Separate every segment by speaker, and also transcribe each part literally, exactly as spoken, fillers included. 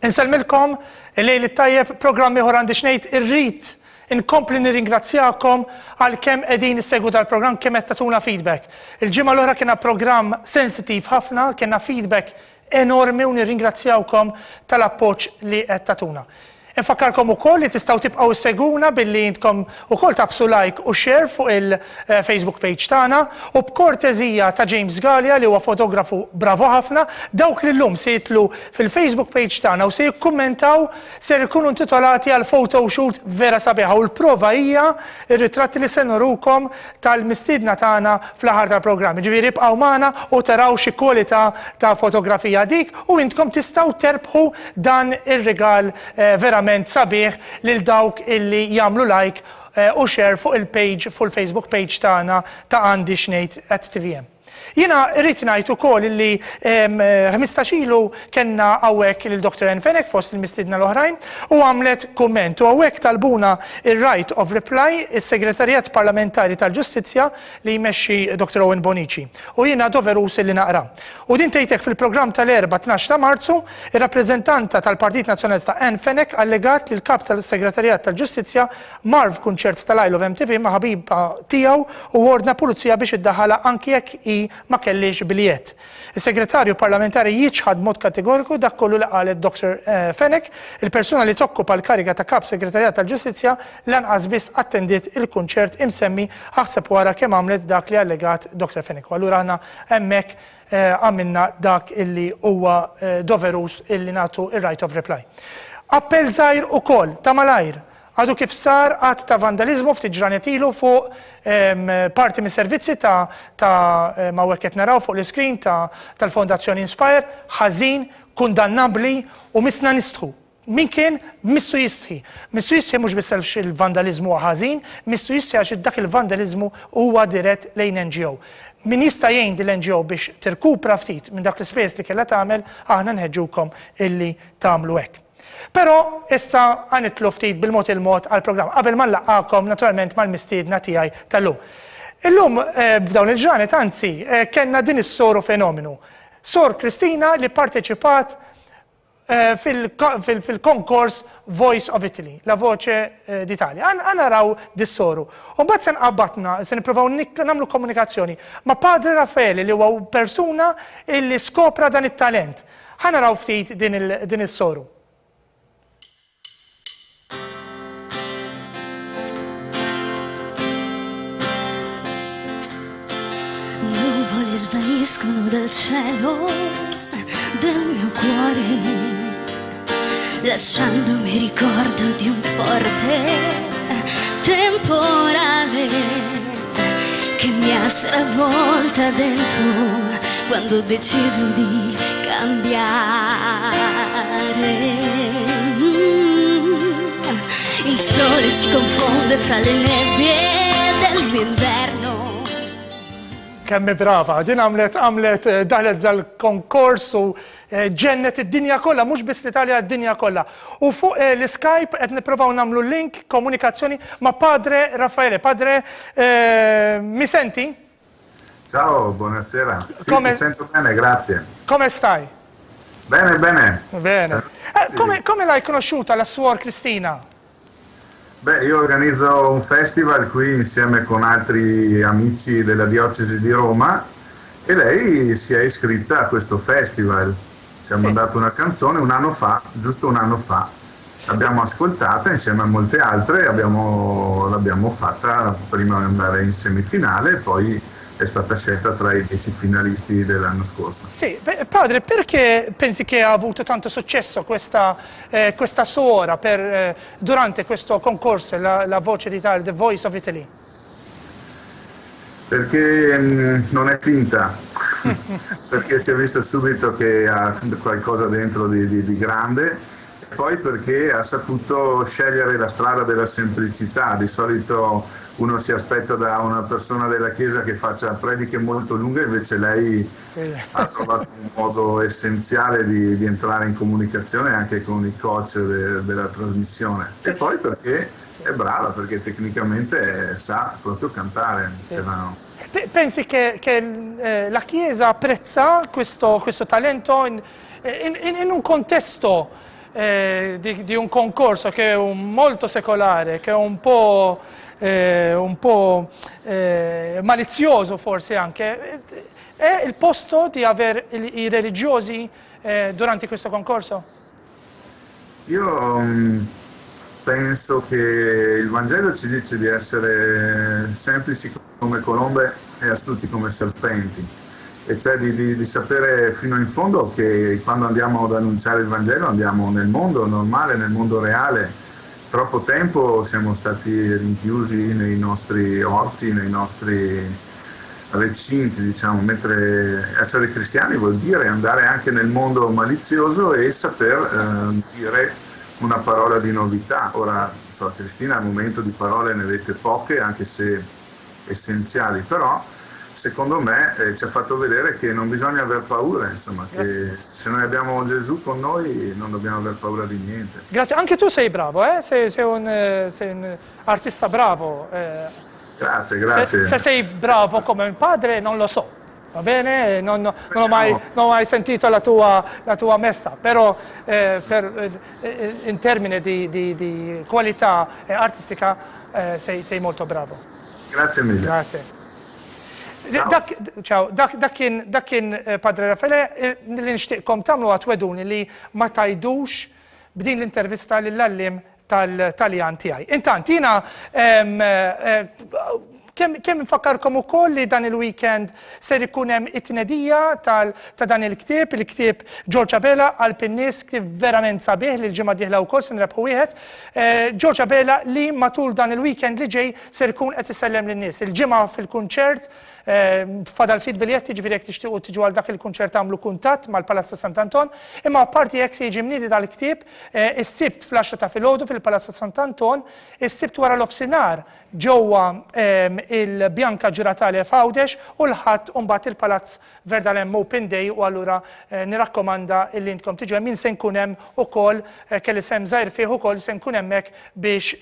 Speaker 1: Insellmilkom, il-lejl it-tajjeb, programm ieħor Għandi x'Ngħid. Irrid inkompli nirringrazzjakom għal kemm qegħdin issegwu dal-programm, kemm qed tagħtuna feedback. Il-ġimgħa l-oħra kiena programm sensitiv ħafna, kienna feedback enormi u nirringrazzjawkom tal-appoġġ li qed tagħtuna. Infakkarkom ukoll li tistgħu tibqgħu ssegwuna billi intkom ukoll tagħfsu like u share fuq il-Facebook page tagħna u b'kortezija ta' James Gallia, li huwa fotografu bravo ħafna, dawk li llum se jidħlu fil-Facebook page tagħna u se jikkummentaw ser ikunu intitolati għal photoshoot vera sabiħa, u l-prova hija ir-ritratti li se nurukom tal-mistiedna tagħna fl-aħħar tal-programm. Ġifieri ibqgħu magħna u taraw xi kwalità ta' fotografija dik u intkom tistgħu terbħu dan ir-rigal eh, verament sabiħ lil dawk illi jagħmlu like eh, u share fuq il-page, fuq il-Facebook page tagħna ta' Għandi x'Ngħid at T V M. Jiena rrid ngħid ukoll illi ħmistax ilu kellna hawnhekk lil Doctor Ann Fenech fost il-mistiedna l-oħrajn u għamlet kumment, u hawnhekk talbuna il-right of reply is-Segretarjat Parlamentari tal-Ġustizzja li jmexxi Doctor Owen Bonici. U jiena doverus li naqra. U din tgħidlek: fil-programm tal-Erbgħa tnax ta' Marzu, ir-rappreżentanta tal-Partit Nazzjonalista Ann Fenech allegat li l-kap tal-Segretarjat tal-Ġustizzja mar f'kunċert tal-I Love M T V ma' ħabiba tiegħu u ordna pulizija biex iddaħħalha anki jekk hi ma kellix biljett. Is-segretarju parlamentari jiċħad mod kategoriku dak kollu li qalet Doctor eh, Fenech. Il-persuna li tokkupa l-kariga ta' kap segretarjat tal-Ġustizzja lanqas biss attendiet il-kunċert imsemmi, aħseb wara kemm għamlet dak li allegat Doctor Fenech. U allura aħna hemmhekk eh, għamilna dak illi huwa eh, doverus illi nagħtu il-right of reply. Appell żgħir ukoll ta' malajr. Għadu kif sar att ta' vandalizmu ftit ġranet ilu fuq em, parti mis servizzi ta' ta' ma' qed naraw fuq l-iskrin ta' tal-Fondazzjoni Inspire, ħażin, kundannabli u missna nistħu. Min kien missu jistħi. Missu jistħi mhux biss għax il-vandalizmu huwa ħażin, missu jistħi għax dak il-vandalizmu huwa dirett lejn N G O. Min jista' jgħin din l-N G O biex tirkupra ftit minn dak l-ispejjeż li kellha tagħmel, aħna nħeġġukom illi tagħmlu hekk. Però issa ħa nidħlu ftit bil-mod il-mod għal-programm, qabel ma nlaqqagħkom naturalment mal-mistiedna tiegħi tal-lum. Illum eh, f'dawn il-ġranet anzi eh, kellna din is-soru fenomenu. Sor Kristina li parteċipat eh, fil-konkors Voice of Italy, La Voce d'Italia. Ħa naraw dis-soru. U mbagħad se nqabbatna, se nippruvaw nagħmlu komunikazzjoni ma' Padre Raffaele, li huwa persuna illi skopra dan it-talent. Ħa naraw ftit din is-soru.
Speaker 2: Nuvole svaniscono dal cielo del mio cuore, lasciandomi ricordo di un forte temporale che mi ha stravolta dentro quando ho deciso di cambiare. Mm. Il sole si confonde fra le nebbie del mio inverno.
Speaker 1: Kemm brava, din għamlet għamlet eh, daħlet dal-konkors u eh, ġennet id-dinja kollha, mhux biss l-Italja, id-dinja kollha. U fuq eh, l-Skype qed nippruvaw nagħmlu link komunikazzjoni ma' Padre Raffaele. Padre, mi senti?
Speaker 3: Ciao, buonasera. Sì,
Speaker 1: Come-
Speaker 3: ti sento bene, grazie.
Speaker 1: Come stai?
Speaker 3: Bene, bene.
Speaker 1: Bene. Eh, come, come l'hai conosciuta la suor Cristina?
Speaker 3: Beh, io organizzo un festival qui insieme con altri amici della diocesi di Roma e lei si è iscritta a questo festival. Ci ha
Speaker 1: Sì.
Speaker 3: mandato una canzone un anno fa, giusto un anno fa. L'abbiamo ascoltata insieme a molte altre e abbiamo- l'abbiamo fatta prima di andare in semifinale e poi è stata scelta tra i dieci finalisti dell'anno scorso.
Speaker 1: Sì, beh, padre, perché pensi che ha avuto tanto successo questa, eh, questa suora per, eh, durante questo concorso, la, la Voce d'Italia, The Voice of Italy?
Speaker 3: Perché mm, non è finta, perché si è visto subito che ha qualcosa dentro di, di- di grande e poi perché ha saputo scegliere la strada della semplicità. Di solito uno si aspetta da una persona della Chiesa che faccia prediche molto lunghe, invece lei
Speaker 1: Sì.
Speaker 3: ha trovato un modo essenziale di, di entrare in comunicazione anche con i coach de- della trasmissione. E poi perché è brava, perché tecnicamente sa proprio cantare. Ce l'ha-
Speaker 1: Pe- Pensi che, che, eh, la Chiesa apprezza questo, questo talento in, in- in- in un contesto eh, di, di un concorso che è un molto secolare, che è un po', eh, un po' eh, malizioso forse anche, è il posto di avere i religiosi eh, durante questo concorso?
Speaker 3: Io um, penso che il Vangelo ci dice di essere semplici come colombe e astuti come serpenti, e cioè di, di, di sapere fino in fondo che quando andiamo ad annunciare il Vangelo andiamo nel mondo normale, nel mondo reale. Troppo tempo siamo stati rinchiusi nei nostri orti, nei nostri recinti, diciamo, mentre essere cristiani vuol dire andare anche nel mondo malizioso e saper eh, dire una parola di novità. Ora, so, Cristina al momento di parole ne avete poche, anche se essenziali, però secondo me eh, ci ha fatto vedere che non bisogna aver paura, insomma, che se noi abbiamo Gesù con noi non dobbiamo aver paura di niente.
Speaker 1: Grazie, anche tu sei bravo, eh? sei, sei, un, sei un artista bravo. Eh.
Speaker 3: Grazie, grazie.
Speaker 1: Se, se sei bravo come un padre non lo so, va bene? Non, non, ho, mai, non ho mai sentito la tua, la tua messa, però eh, per, eh, in termini di, di, di qualità artistica eh, sei, sei molto bravo.
Speaker 3: Grazie mille.
Speaker 1: Grazie. Dak, ciao, dak, dak kien, dak kien Padre Raffaele, li nixtieqkom tagħmlu għatweduni li ma tajdux b'din l-intervista lill-għalliem tal-Taljan tiegħi. Intant, jiena kemm kemm nfakkarkom ukoll li dan il-weekend ser ikun hemm it-tnedija ta' dan il-ktieb, il-ktieb George Abela Qalb in-Nies, ktieb verament sabiħ li l-ġimgħa dieħla wkoll se nrebħu wieħed. George Abela li matul dan il-weekend li ġej ser ikun qed isellem lin-nies. Il-ġimgħa fil-kunċert fadal ftit biljetti, ġifieri jekk tixtiequ tiġu għal dak il-kunċert tagħmlu kuntatt mal-Palazzo Sant'Anton, imma apparti hekk se jiġi mniedi dal-ktieb is-Sibt fl-għaxra ta' filgħodu fil-Palazzo Sant'Anton, is-Sibt wara l-ofsinhar ġewwa il-Bianca Ġuratale f'Għawdex u l-Ħadd mbagħad il-Palazz Verdalem Open Day, u allura nirakkomanda li intkom tiġu hemm. Jien se nkun hemm ukoll, kelli sem żgħir fih ukoll, se nkun hemmhekk biex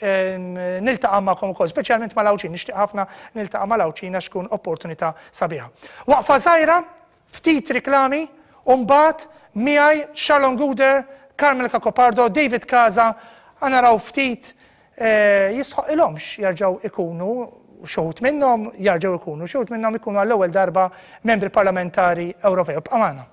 Speaker 1: niltaqa' magħkom ukoll, speċjalment mal-Għawdxin, nixtieq ħafna niltaqa' mal-Għawdxin għax tkun opportunità sabiħa. Waqfa żgħira, ftit riklami, u mbagħad miegħi Charlon Guder, Carmel Cacopardo, David Casa, naraw ftit jistħoq ilhomx jarġgħu ikunu xi wħud minnhom jarġgħu ikunu xi wħud minnhom ikunu għall-ewwel darba membri parlamentari Ewropew. Ibqa' magħna.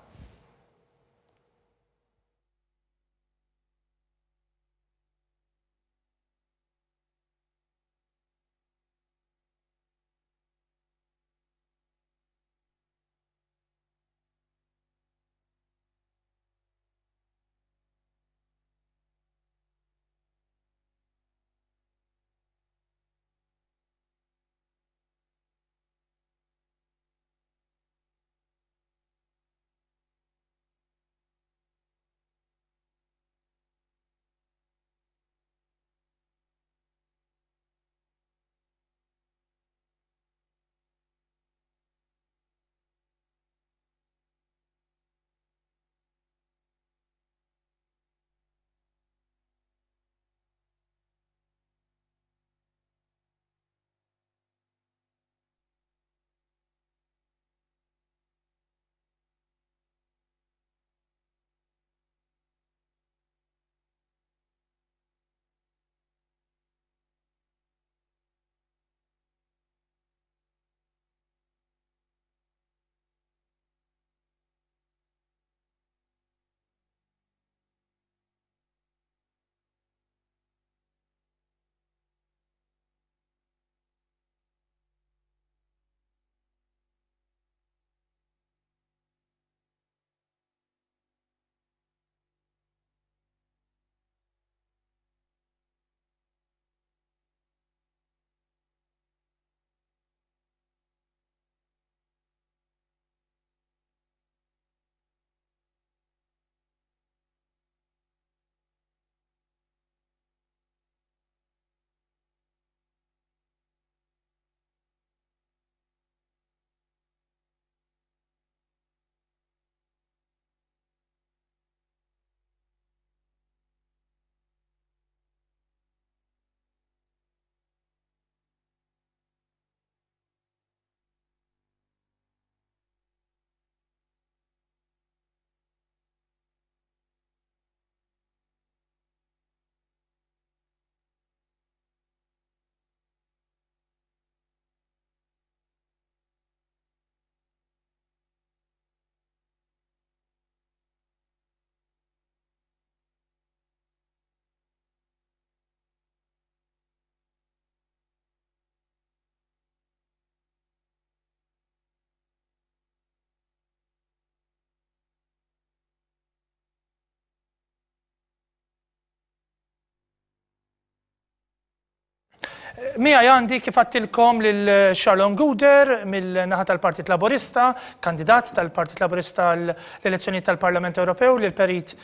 Speaker 1: Miegħi għandi kif għedtilkom lil Charlon Gouder mill-naħa tal-Partit Laburista, kandidat tal-Partit Laburista l-elezzjoni tal-Parlament Ewropew, lil Perit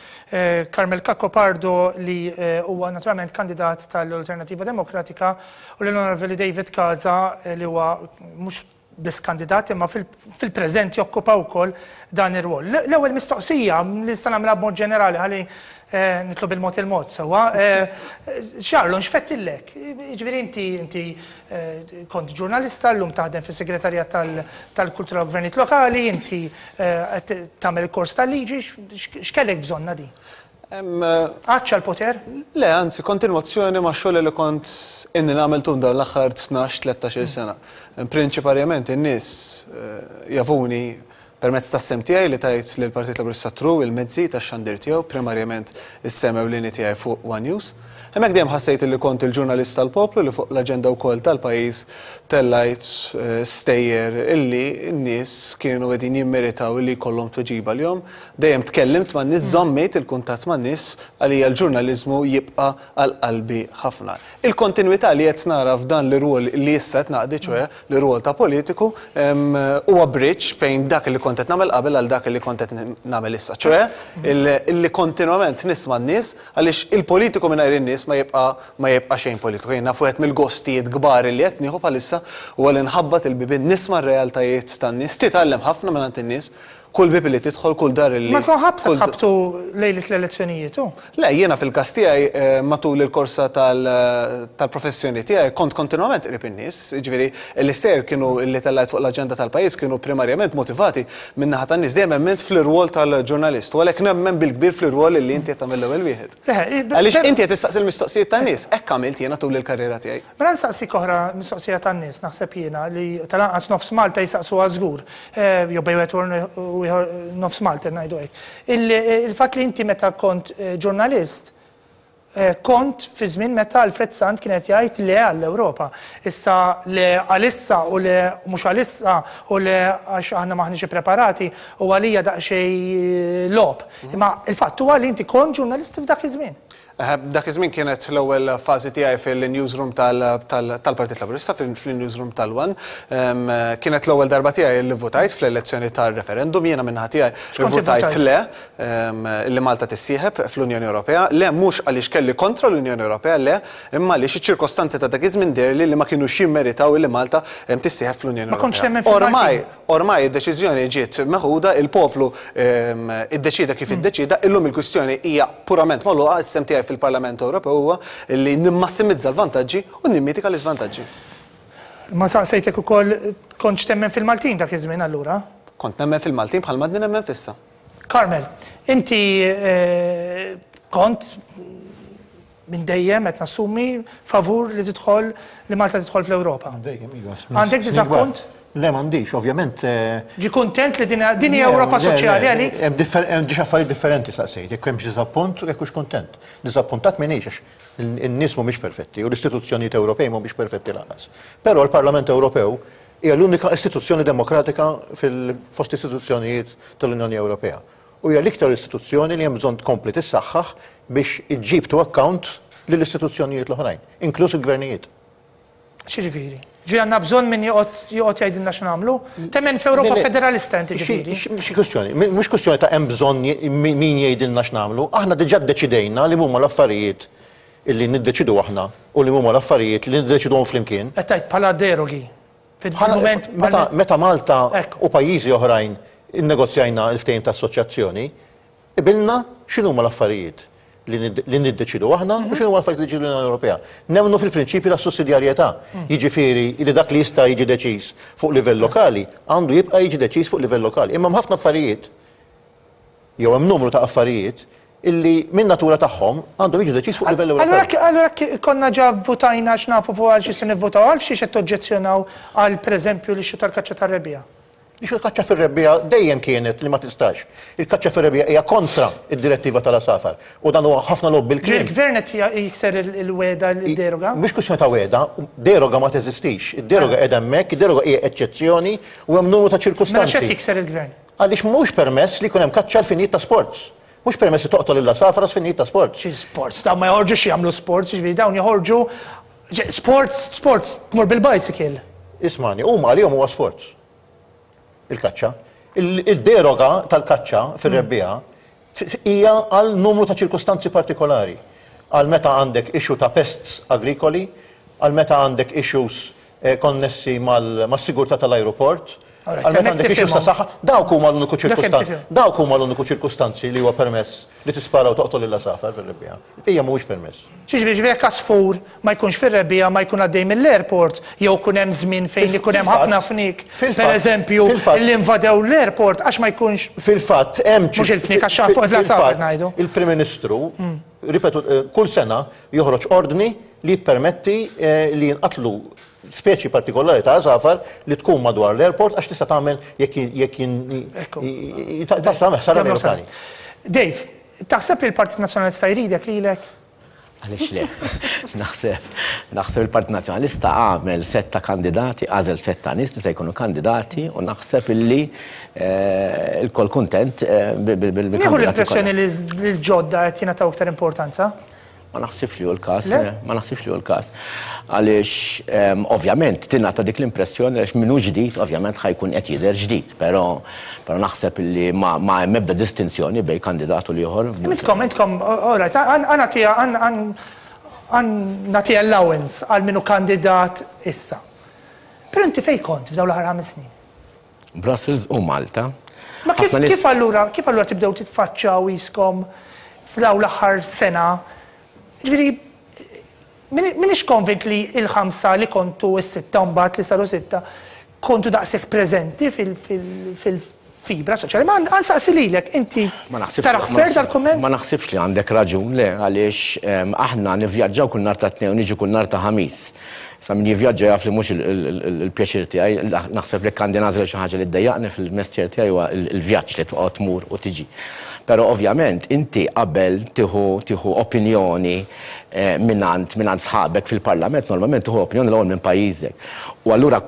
Speaker 1: Carmel Cacopardo li huwa naturalment kandidat tal-Alternativa Demokratika u l-Onorevoli David Casa li huwa mhux biss kandidat imma fil-preżent jokkupa wkoll dan ir-rwol. L-ewwel mistoqsija li nista' nagħmilha b'mod ġenerali ħalli nitlu bil-mod il-mod sewwa. Charlon, x'fettillek? Jiġifieri inti inti kont ġurnalista, llum taħdem fis-segretarjat tal-Kultura u Gvernijiet Lokali, inti qed tagħmel il-kors tal-liġi, x'kellek bżonna di? Għatx għall-poter?
Speaker 4: Le, anzi, kontinwazzjoni ma' xogħol li kont inni nagħmel tul dawn l-aħħar tnax tlettax-il sena. Prinċiparjament in-nies jafuni permezz tas-sem tiegħi li tajt lill-Partit Laburista Tru il-mezzi tax-xandir tiegħu, primarjament is-sem ewlieni tiegħi fuq One News. Hemmhekk dejjem ħassejt li kont il-ġurnalist tal-poplu li fuq l-aġenda wkoll tal-pajjiż tellajt stejjer illi n-nies kienu qegħdin jimmeritaw illi jkollhom tweġiba lihom. Dejjem tkellimt man-nies, żammejt il-kuntatt man-nies, għalija l-ġurnaliżmu jibqa' għal qalbi ħafna. Il-kontinwità li qed nara f'dan l-irwol li issa qed naqdi, ċoe l-irwol ta' politiku, huwa bridge bejn dak li kont qed nagħmel qabel għal dak li kont qed nagħmel issa, ċoe illi kontinwament nisma' n-nies għaliex il-politiku mingħajr in-nies ma jibqa' ma jibqa' xejn politiku. Jien naf wieħed mill-gostijiet kbar li qed nieħu bħalissa huwa li nħabbat il-bibien, nisma' r-realtajiet tan-nies, titgħallem ħafna mingħand in-nies, kull bib li tidħol, kull dar li.
Speaker 1: Ma tkun ħabta tħabtu lejlet l-elezzjonijiet u?
Speaker 4: Le, jiena fil-każ tiegħi matul il-korsa tal-professjoni tiegħi kont kontinwament qrib in-nies, jiġifieri l-istejjer kienu li tellajt fuq l-aġenda tal-pajjiż kienu primarjament motivati min-naħa tan-nies, dejjem emmint fl-irwol tal-ġurnalist u għalhekk nemmen bil-kbir fl-irwol li inti qed tagħmel l-ewwel wieħed. Għaliex inti qed tistaqsi l-mistoqsijiet tan-nies, hekk għamilt jiena tul il-karriera tiegħi.
Speaker 1: Mela nsaqsik oħra mistoqsija tan-nies, naħseb jiena li tal-anqas nofs Malta jisaqsuha żgur, jew bejn wieħed u nofs Malta ngħidu hekk. Il-fatt li inti meta kont ġurnalist, kont fi żmien meta Alfred Sant kien qed jgħid le għall-Ewropa. Issa le għalissa u le mhux għalissa u le għax aħna maħniex ippreparati u għalija daqsxejn logħob. Imma il-fatt huwa li inti kont ġurnalist f'dak iż-żmien.
Speaker 4: Dak iż-żmien kienet l-ewwel fażi tiegħi fil-newsroom tal-Partit Laburista, fil-newsroom tal-One. Kienet l-ewwel darba tiegħi li votajt fl-elezzjoni tar-referendum, jiena min-naħa tiegħi votajt le li Malta tissieħeb fl-Unjoni Ewropea. Le mhux għaliex kelli kontra l-Unjoni Ewropea, le imma għaliex iċ-ċirkostanzi ta' dak iż-żmien deherli li ma kinux jimmeritaw li Malta tissieħeb fl-Unjoni Ewropea. Ormai, ormai id-deċiżjoni ġiet meħuda, il-poplu iddeċida kif iddeċida, illum il-kwistjoni hija purament magħluqa, is-sem tiegħi fil-Parlament Ewropew huwa li nimmassimizza l-vantaġġi u nimmitika l-iżvantaġġi.
Speaker 1: Ma saqsejtek ukoll kontx temmen fil-Maltin dak iż-żmien allura?
Speaker 4: Kont nemmen fil-Maltin bħal m'għadni nemmen fissa.
Speaker 1: Carmel, inti kont minn dejjem qed nassumi favur li tidħol li Malta tidħol fl-Ewropa.
Speaker 5: Dejjem, iva.
Speaker 1: Għandek diżappunt?
Speaker 5: Le, m'għandix, ovvjament.
Speaker 1: Ġi kuntent li din hija Ewropa soċjali għalik?
Speaker 5: Hemm diġà affarijiet differenti saqsejt, jekk hemmx diżappunt u jekk hux kuntent. Diżappuntat m'iniex għax in-nies mhumiex perfetti u l-istituzzjonijiet Ewropej mhumiex perfetti lanqas. Però l-Parlament Ewropew hija l-unika istituzzjoni demokratika fil-fost istituzzjonijiet tal-Unjoni Ewropea. U hija l-iktar istituzzjoni li hemm bżonn tkompli tissaħħaħ biex iġġib to account lill-istituzzjonijiet l-oħrajn, inkluż il-gvernijiet.
Speaker 1: X'jiġifieri? Ġi għandna bżonn min joqgħod jgħidilna x'nagħmlu? Temmen f'Ewropa federalista inti ġifieri?
Speaker 5: Xi kwestjoni, mhux kwestjoni ta' hemm bżonn min jgħidilna x'nagħmlu, aħna diġà ddeċidejna li huma l-affarijiet illi niddeċidu aħna u li huma l-affarijiet li niddeċiduhom flimkien.
Speaker 1: Qed tgħid bħala derogi. Fil-mument
Speaker 5: meta Malta u pajjiżi oħrajn innegozjajna l-ftehim ta' assoċjazzjoni, qbilna x'inhuma l-affarijiet li niddeċidu aħna u x'inhu l-affarijiet li niddeċidu l-Unjoni Ewropea. Nemmnu fil-prinċipju ta' sussidjarjetà, jiġifieri li dak li jista' jiġi deċiż fuq livell lokali għandu jibqa' jiġi deċiż fuq livell lokali. Imma hemm ħafna affarijiet jew hemm numru ta' affarijiet illi minn natura tagħhom għandhom jiġu deċiż fuq livell Ewropew.
Speaker 1: Allura konna ġa votajna x'nafu fuq għal xi se nivvotaw għal xi qed toġġezzjonaw għal pereżempju li xi tal-kaċċa tar-rebbiegħa.
Speaker 5: Biex il-kaċċa fir-rebbiegħa dejjem kienet li ma tistax. Il-kaċċa fir-rebbiegħa hija kontra id-direttiva tal-asafar. U dan huwa ħafna logħob bil-kliem.
Speaker 1: Il-gvern qed jikser il-weda il-deroga?
Speaker 5: Mhux kwistjoni ta' weda, deroga ma teżistix. Id-deroga qiegħda hemmhekk, id-deroga hija eċċezzjoni u hemm numru ta' ċirkustanzi.
Speaker 1: Mela x'qed jikser il-gvern?
Speaker 5: Għaliex mhux permess li jkun hemm kaċċa għal finijiet ta' sports. Mhux permess li toqtol il-asafar għal finijiet ta' sports.
Speaker 1: Xi sports? Dawn ma joħorġux jagħmlu sports, jiġifieri dawn joħorġu Sports, sports, tmur bil-bicycle.
Speaker 5: Ismani, huma għalihom huwa sports. Il-kaċċa. Il-deroga tal-kaċċa fir-rebbiegħa hija għal numru ta' ċirkustanzi partikolari. Għal meta għandek issue ta' pests agrikoli, għal meta għandek issues konnessi mas-sigurtà tal-aeroport, għal meta għandek issues ta' saħħa, dawk huma l-uniku ċirkustanzi. Dawk huma l-uniku ċirkustanzi li huwa permess li tispara u toqtol il-għasafar fir-rebbiegħa. Hija mhuwiex permess.
Speaker 1: Xiġri ġifieri jekk għasfur ma jkunx fir-rebbiegħa ma jkun għaddej mill-airport jew kun hemm żmien fejn ikun hemm ħafna fniek. Pereżempju, li invadew l-airport għax ma jkunx.
Speaker 5: Fil-fatt hemm
Speaker 1: mhux il-fniek għax fuq l-għasafar ngħidu.
Speaker 5: Il-Prim Ministru, ripetu, kull sena joħroġ ordni li jippermetti li jinqatlu speċi partikolari ta' għasafar li tkun madwar l-airport għax tista' tagħmel jekk jekk tista' tagħmel ħsara l-ajruplani.
Speaker 1: Dave, taħseb li l-Partit Nazzjonalista jridek lilek?
Speaker 6: Għaliex le? Naħseb, naħseb il-Partit Nazzjonalista għamel setta kandidati, għażel setta nies li se jkunu kandidati u naħseb illi il-kol kuntent bil-kandidati.
Speaker 1: Nieħu l-impressjoni li l-ġodda qed jingħataw iktar importanza?
Speaker 6: Ma naħsibx li hu l-każ, ma naħsibx li hu l-każ. Għaliex ovvjament tingħata dik l-impressjoni għaliex min hu ġdid ovvjament ħa jkun qed jidher ġdid, però però naħseb li ma hemm ebda distinzjoni bejn kandidat u l-ieħor.
Speaker 1: Intkom, intkom, all right, nagħti allowance għal min hu kandidat issa. Però inti fejn kont f'dawn l-aħħar ħames snin?
Speaker 6: Brussels u Malta.
Speaker 1: Ma kif allura kif allura tibdew titfaċċaw iskom f'dawn l-aħħar sena? Ġifieri, minix konvint li il-ħamsa li kontu s-sitta mbagħad li saru sitta kontu daqshekk preżenti fil-fibra soċjali. Ma nsaqsi lilek, inti taraħ fer dal-kumment?
Speaker 6: Ma naħsibx li għandek raġun le, għaliex aħna nivvjaġġaw kull nhar ta' Tnejn u niġu kull nhar ta' Ħamis. Sa min jivvjaġġa jaf li mhux il-pjaċir tiegħi, naħseb li għandi nagħżel xi ħaġa li ddejjaqni fil-mestier tiegħi huwa l-vjaġġ li toqgħod tmur u tiġi. Però ovvjament inti qabel tieħu opinjoni mingħand mingħand sħabek fil-Parlament, normalment tieħu opinjoni l-ewwel minn pajjiżek. U allura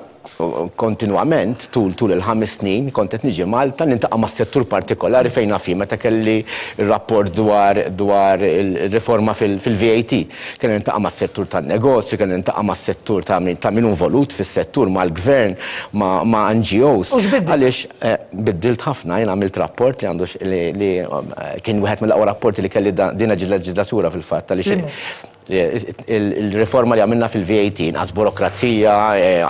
Speaker 6: kontinwament tul tul il-ħames snin kont qed niġi Malta nintaqa' mas-settur partikolari fejn naf meta kelli r-rapport dwar dwar il-riforma fil-V A T. Kelli nintaqa' mas-settur tan-negozju, kelli nintaqa' mas-settur ta' min ta' min hu involut fis-settur mal-gvern, ma' N G Os. Għaliex biddilt ħafna, jien għamilt rapport li għandu li kien wieħed mill-aqwa rapporti li kelli din il-leġislatura fil-fatt għaliex il-riforma li għamilna fil-V A T, inqas burokrazija,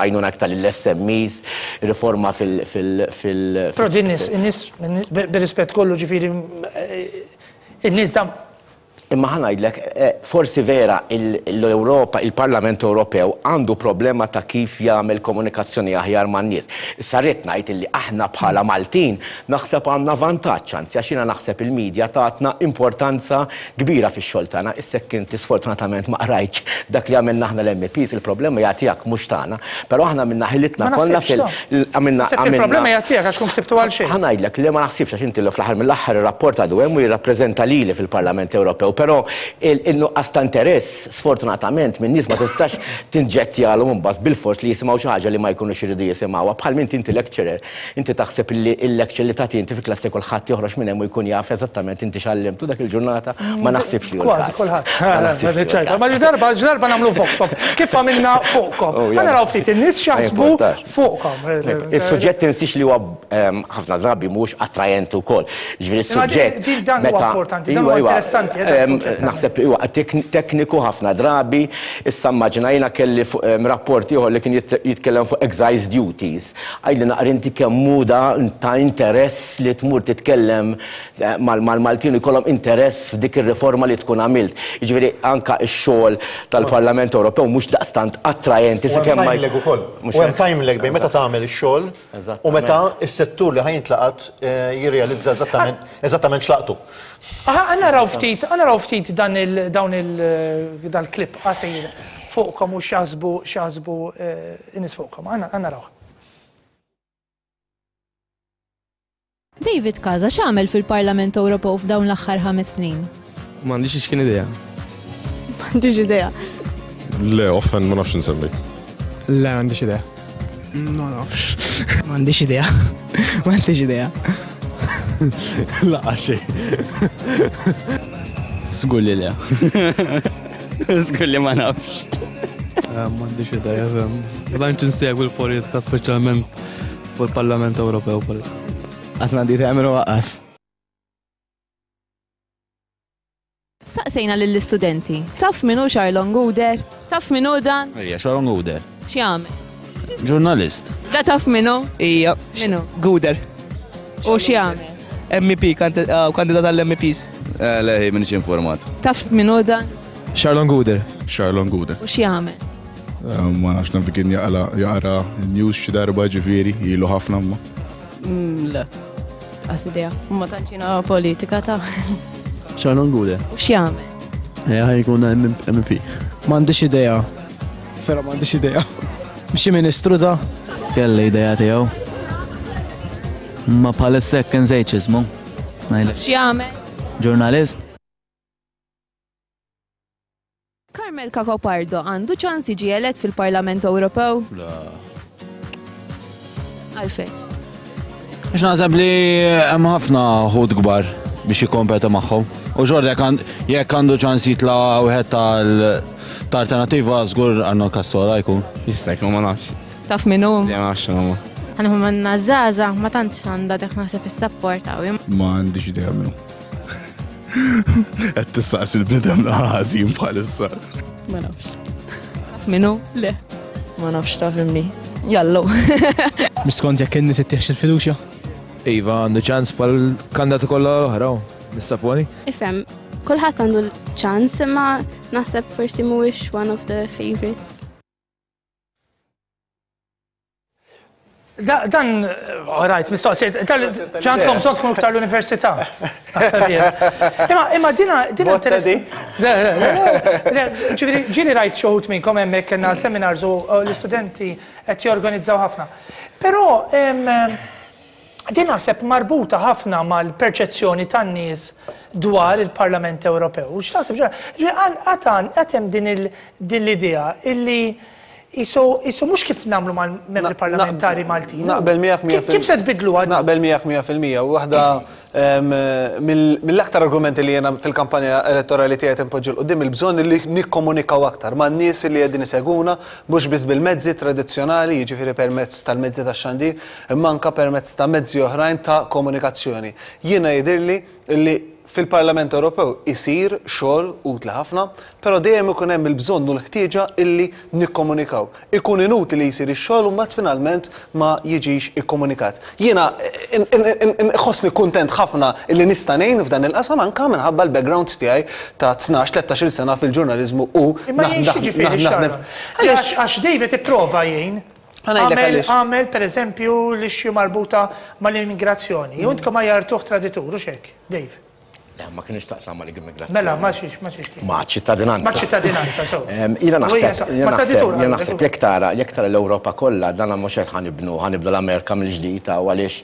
Speaker 6: għajnuna aktar lill-S M Es, riforma fil- fil-
Speaker 1: Però din nies, in-nies, bir-rispett kollu ġifieri, in-nies dan.
Speaker 6: Imma ħa ngħidlek, forsi vera l-Ewropa, il-Parlament Ewropew għandu problema ta' kif jagħmel komunikazzjoni aħjar man-nies. Issa rrid ngħid illi aħna bħala Maltin naħseb għandna vantaġġ, anzi għax jiena naħseb il-medja tatna importanza kbira fix-xogħol tagħna. Issa jekk inti sfortunatament ma qrajtx dak li għamilna aħna l-M Ps, il-problema hija tiegħek mhux tagħna. Però aħna minna ħilitna kollha fil għamilna
Speaker 1: il-problema hija tiegħek għax tkun ktibtu għal xejn.
Speaker 6: Ħa ngħidlek li ma naħsibx għax inti fl-aħħar mill-aħħar ir-rapport għadu hemm u jirrappreżenta lili fil-Parlament Ewropew. Però il-nuqqas ta' interess, sfortunatament, minn nies ma tistax tinġettjalhom imbagħad bil-fors li jisimgħu xi ħaġa li ma jkunux iridu jisimgħuha. Bħal minn inti lecturer, inti taħseb li l-lecture li tagħti inti fi klassi kulħadd joħroġ minn hemm u jkun jaf eżattament inti x'għallimtu dak il-ġurnata, ma naħsibx li hu l-każ.
Speaker 1: Ma darba darba nagħmlu vox pop. Kif għamilna fuqkom? Ħa naraw ftit in-nies x'jaħsbu fuqkom.
Speaker 6: Is-suġġett tinsiex li huwa ħafna drabi mhux attrajenti wkoll. Ġifieri is-suġġett.
Speaker 1: Dan huwa importanti, dan huwa interessanti.
Speaker 6: Naħseb huwa tekniku ħafna drabi, issa immaġina jiena kelli rapport ieħor li kien jitkellem fuq excise duties. Għajli naqra inti kemm hu ta' interess li tmur titkellem mal-Maltin jkollhom interess f'dik ir-riforma li tkun għamilt. Jiġifieri anke x-xogħol tal-Parlament Ewropew mhux daqstant attrajenti sakemm ma
Speaker 5: leg ukoll. U hemm time lag bejn meta tagħmel ix-xogħol u meta s-settur li ħajintlaqat jirrealizza eżattament eżattament x'laqtu.
Speaker 1: Aha, naraw ftit, naraw ftit dan il dawn il dal-klip qasir fuqkom u x'jaħsbu x'jaħsbu in-nies fuqkom. Għandna narawh.
Speaker 7: David Casa x'għamel fil-Parlament Ewropew f'dawn l-aħħar ħames snin?
Speaker 8: M'għandix x'kien idea.
Speaker 9: M'għandix idea.
Speaker 10: Le, offen ma nafx insemmi.
Speaker 8: Le, m'għandix idea.
Speaker 9: Ma nafx. M'għandix idea. M'għandix idea.
Speaker 8: Laqa xejn. Żgur li le. Żgur li ma nafx. M'għandix idea, fem. Ma tantx insegwi l-politika, speċjalment fuq il-Parlament Ewropew bħalissa.
Speaker 9: Qas m'għandi idea minnu waqqas.
Speaker 7: Saqsejna lill-istudenti. Taf min hu Charlon Gouder? Taf min hu dan?
Speaker 11: Ejja, Charlon Gouder.
Speaker 7: X'jagħmel?
Speaker 11: Ġurnalist.
Speaker 7: Da taf min hu?
Speaker 9: Ija.
Speaker 7: Min hu?
Speaker 9: Gouder.
Speaker 7: U x'jagħmel?
Speaker 9: M E P, kandidat għall-M E Ps.
Speaker 11: Le, minix informat.
Speaker 7: Taf min hu dan?
Speaker 12: Charlon Gouder.
Speaker 10: Charlon Gouder.
Speaker 7: U x'jagħmel?
Speaker 10: Ma nafx naf kien jaqra news xi darba ġifieri, ilu ħafna ma.
Speaker 13: Le. Qas idea. Ma tantx jiena politika ta'
Speaker 12: Charlon Gouder.
Speaker 7: U x'jagħmel?
Speaker 12: Ħa jkun M E P.
Speaker 9: M'għandix idea. Vera m'għandix idea. Xi ministru da?
Speaker 14: Kelli idea tiegħu. Ma bħalissa hekk insejt x'ismu.
Speaker 7: X'jagħmel?
Speaker 14: Ġurnalist.
Speaker 7: Carmel Cacopardo għandu ċans jiġi elett fil-Parlament Ewropew?
Speaker 11: La.
Speaker 7: Għalfejn?
Speaker 11: Għax naħseb li hemm ħafna ħut kbar biex jikkompeta magħhom. U xorta jekk għandu ċans jitla' wieħed tal-alternativa żgur Arnold Cassola jkun.
Speaker 8: Jista' jkun ma nafx.
Speaker 7: Taf min hu?
Speaker 8: Le, ma nafx x'inhu.
Speaker 13: Ħa manna żgħażagħ ma tantx għandha dak naħseb is-sapport qawwi.
Speaker 10: Ma għandix idea minnu. Qed tistaqsi l-bniedem ħażin bħalissa.
Speaker 13: Ma nafx.
Speaker 7: Taf min hu?
Speaker 13: Le. Ma nafx taf minni. Jallu.
Speaker 9: Mhux skont jekk in-nies ittieħx il-fiduċja.
Speaker 12: Iva, għandu ċans bħal kandidati kollha l-oħra, nissaponi.
Speaker 13: Ifhem, kulħadd għandu ċans imma naħseb forsi mhuwiex one of the favorites.
Speaker 1: Dan, all right, mistoqsijiet, ġandkom bżonn tkunu iktar l-università. Imma imma dina dina interessanti. Ġifieri ġieli rajt xi wħud minnkom hemmhekk kellna seminars u l-istudenti qed jorganizzaw ħafna. Però din naħseb marbuta ħafna mal-perċezzjoni tan-nies dwar il-Parlament Ewropew. U x'taħseb ġifieri għad hemm din l-idea illi Isu mhux kif nagħmlu mal-membri parlamentari Maltin.
Speaker 4: Naqbel miegħek mija
Speaker 1: fil-mija. Kif se tbidluha?
Speaker 4: Naqbel miegħek mija fil-mija. Waħda mill-aktar argumenti li jiena fil-kampanja elettorali tiegħi tinpoġġi 'l quddiem il-bżonn li nikkomunikaw aktar man-nies li qegħdin isegwuna mhux biss bil-mezzi tradizzjonali, jiġifieri permezz tal-mezzi tax-xandir, imma anke permezz ta' mezzi oħrajn ta' komunikazzjoni. Jiena jidhirli li fil-Parlament Ewropew isir xogħol utli ħafna, però dejjem ikun hemm il-bżonn u l-ħtieġa illi nikkomunikaw. Ikun inutli li jsir ix-xogħol u mbagħad finalment ma jiġix ikkomunikat. Jiena nħossni kuntent ħafna illi nista' ngħin f'dan il-qasam anke minħabba l-background tiegħi ta' tnax tlettax-il sena fil-ġurnaliżmu u
Speaker 1: naħdem. Għax David ipprova jgħin. Għamel per eżempju l-issue marbuta mal-immigrazzjoni. Intkom ma jartuh traditur, u xek, Dave?
Speaker 6: Le, ma kienx taqsam mal immigrazzjoni.
Speaker 1: Mela, ma xiex, ma xiex.
Speaker 6: Ma ċittadinanza.
Speaker 1: Ma ċittadinanza, so.
Speaker 6: Jiena naħseb, jiena naħseb jekk tara, jekk tara l-Ewropa kollha, dan mhux qed ħanibnu, ħanibnu l-Amerika mill-ġdid u għaliex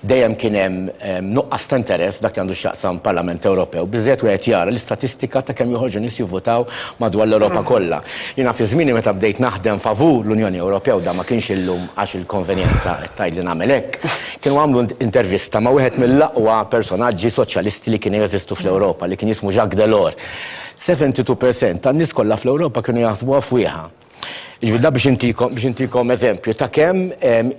Speaker 6: dejjem kien hemm nuqqas ta' interess dak li għandu x'jaqsam Parlament Ewropew. Biżżejjed wieħed jara l-istatistika ta' kemm joħorġu nies jivvutaw madwar l-Ewropa kollha. Jiena fi żmieni meta bdejt naħdem favur l-Unjoni Ewropea u da ma kienx illum għax il-konvenjenza qed tgħidli nagħmel hekk, kienu għamlu intervista ma' wieħed mill-aqwa personaġġi soċjalisti li kien jeżistu fl-Ewropa li kien jismu Jacques Delors. seventy-two percent tan-nies kollha fl-Ewropa kienu jaħsbuha fwieħa. Jiġifieri da biex intikom biex intikom eżempju ta' kemm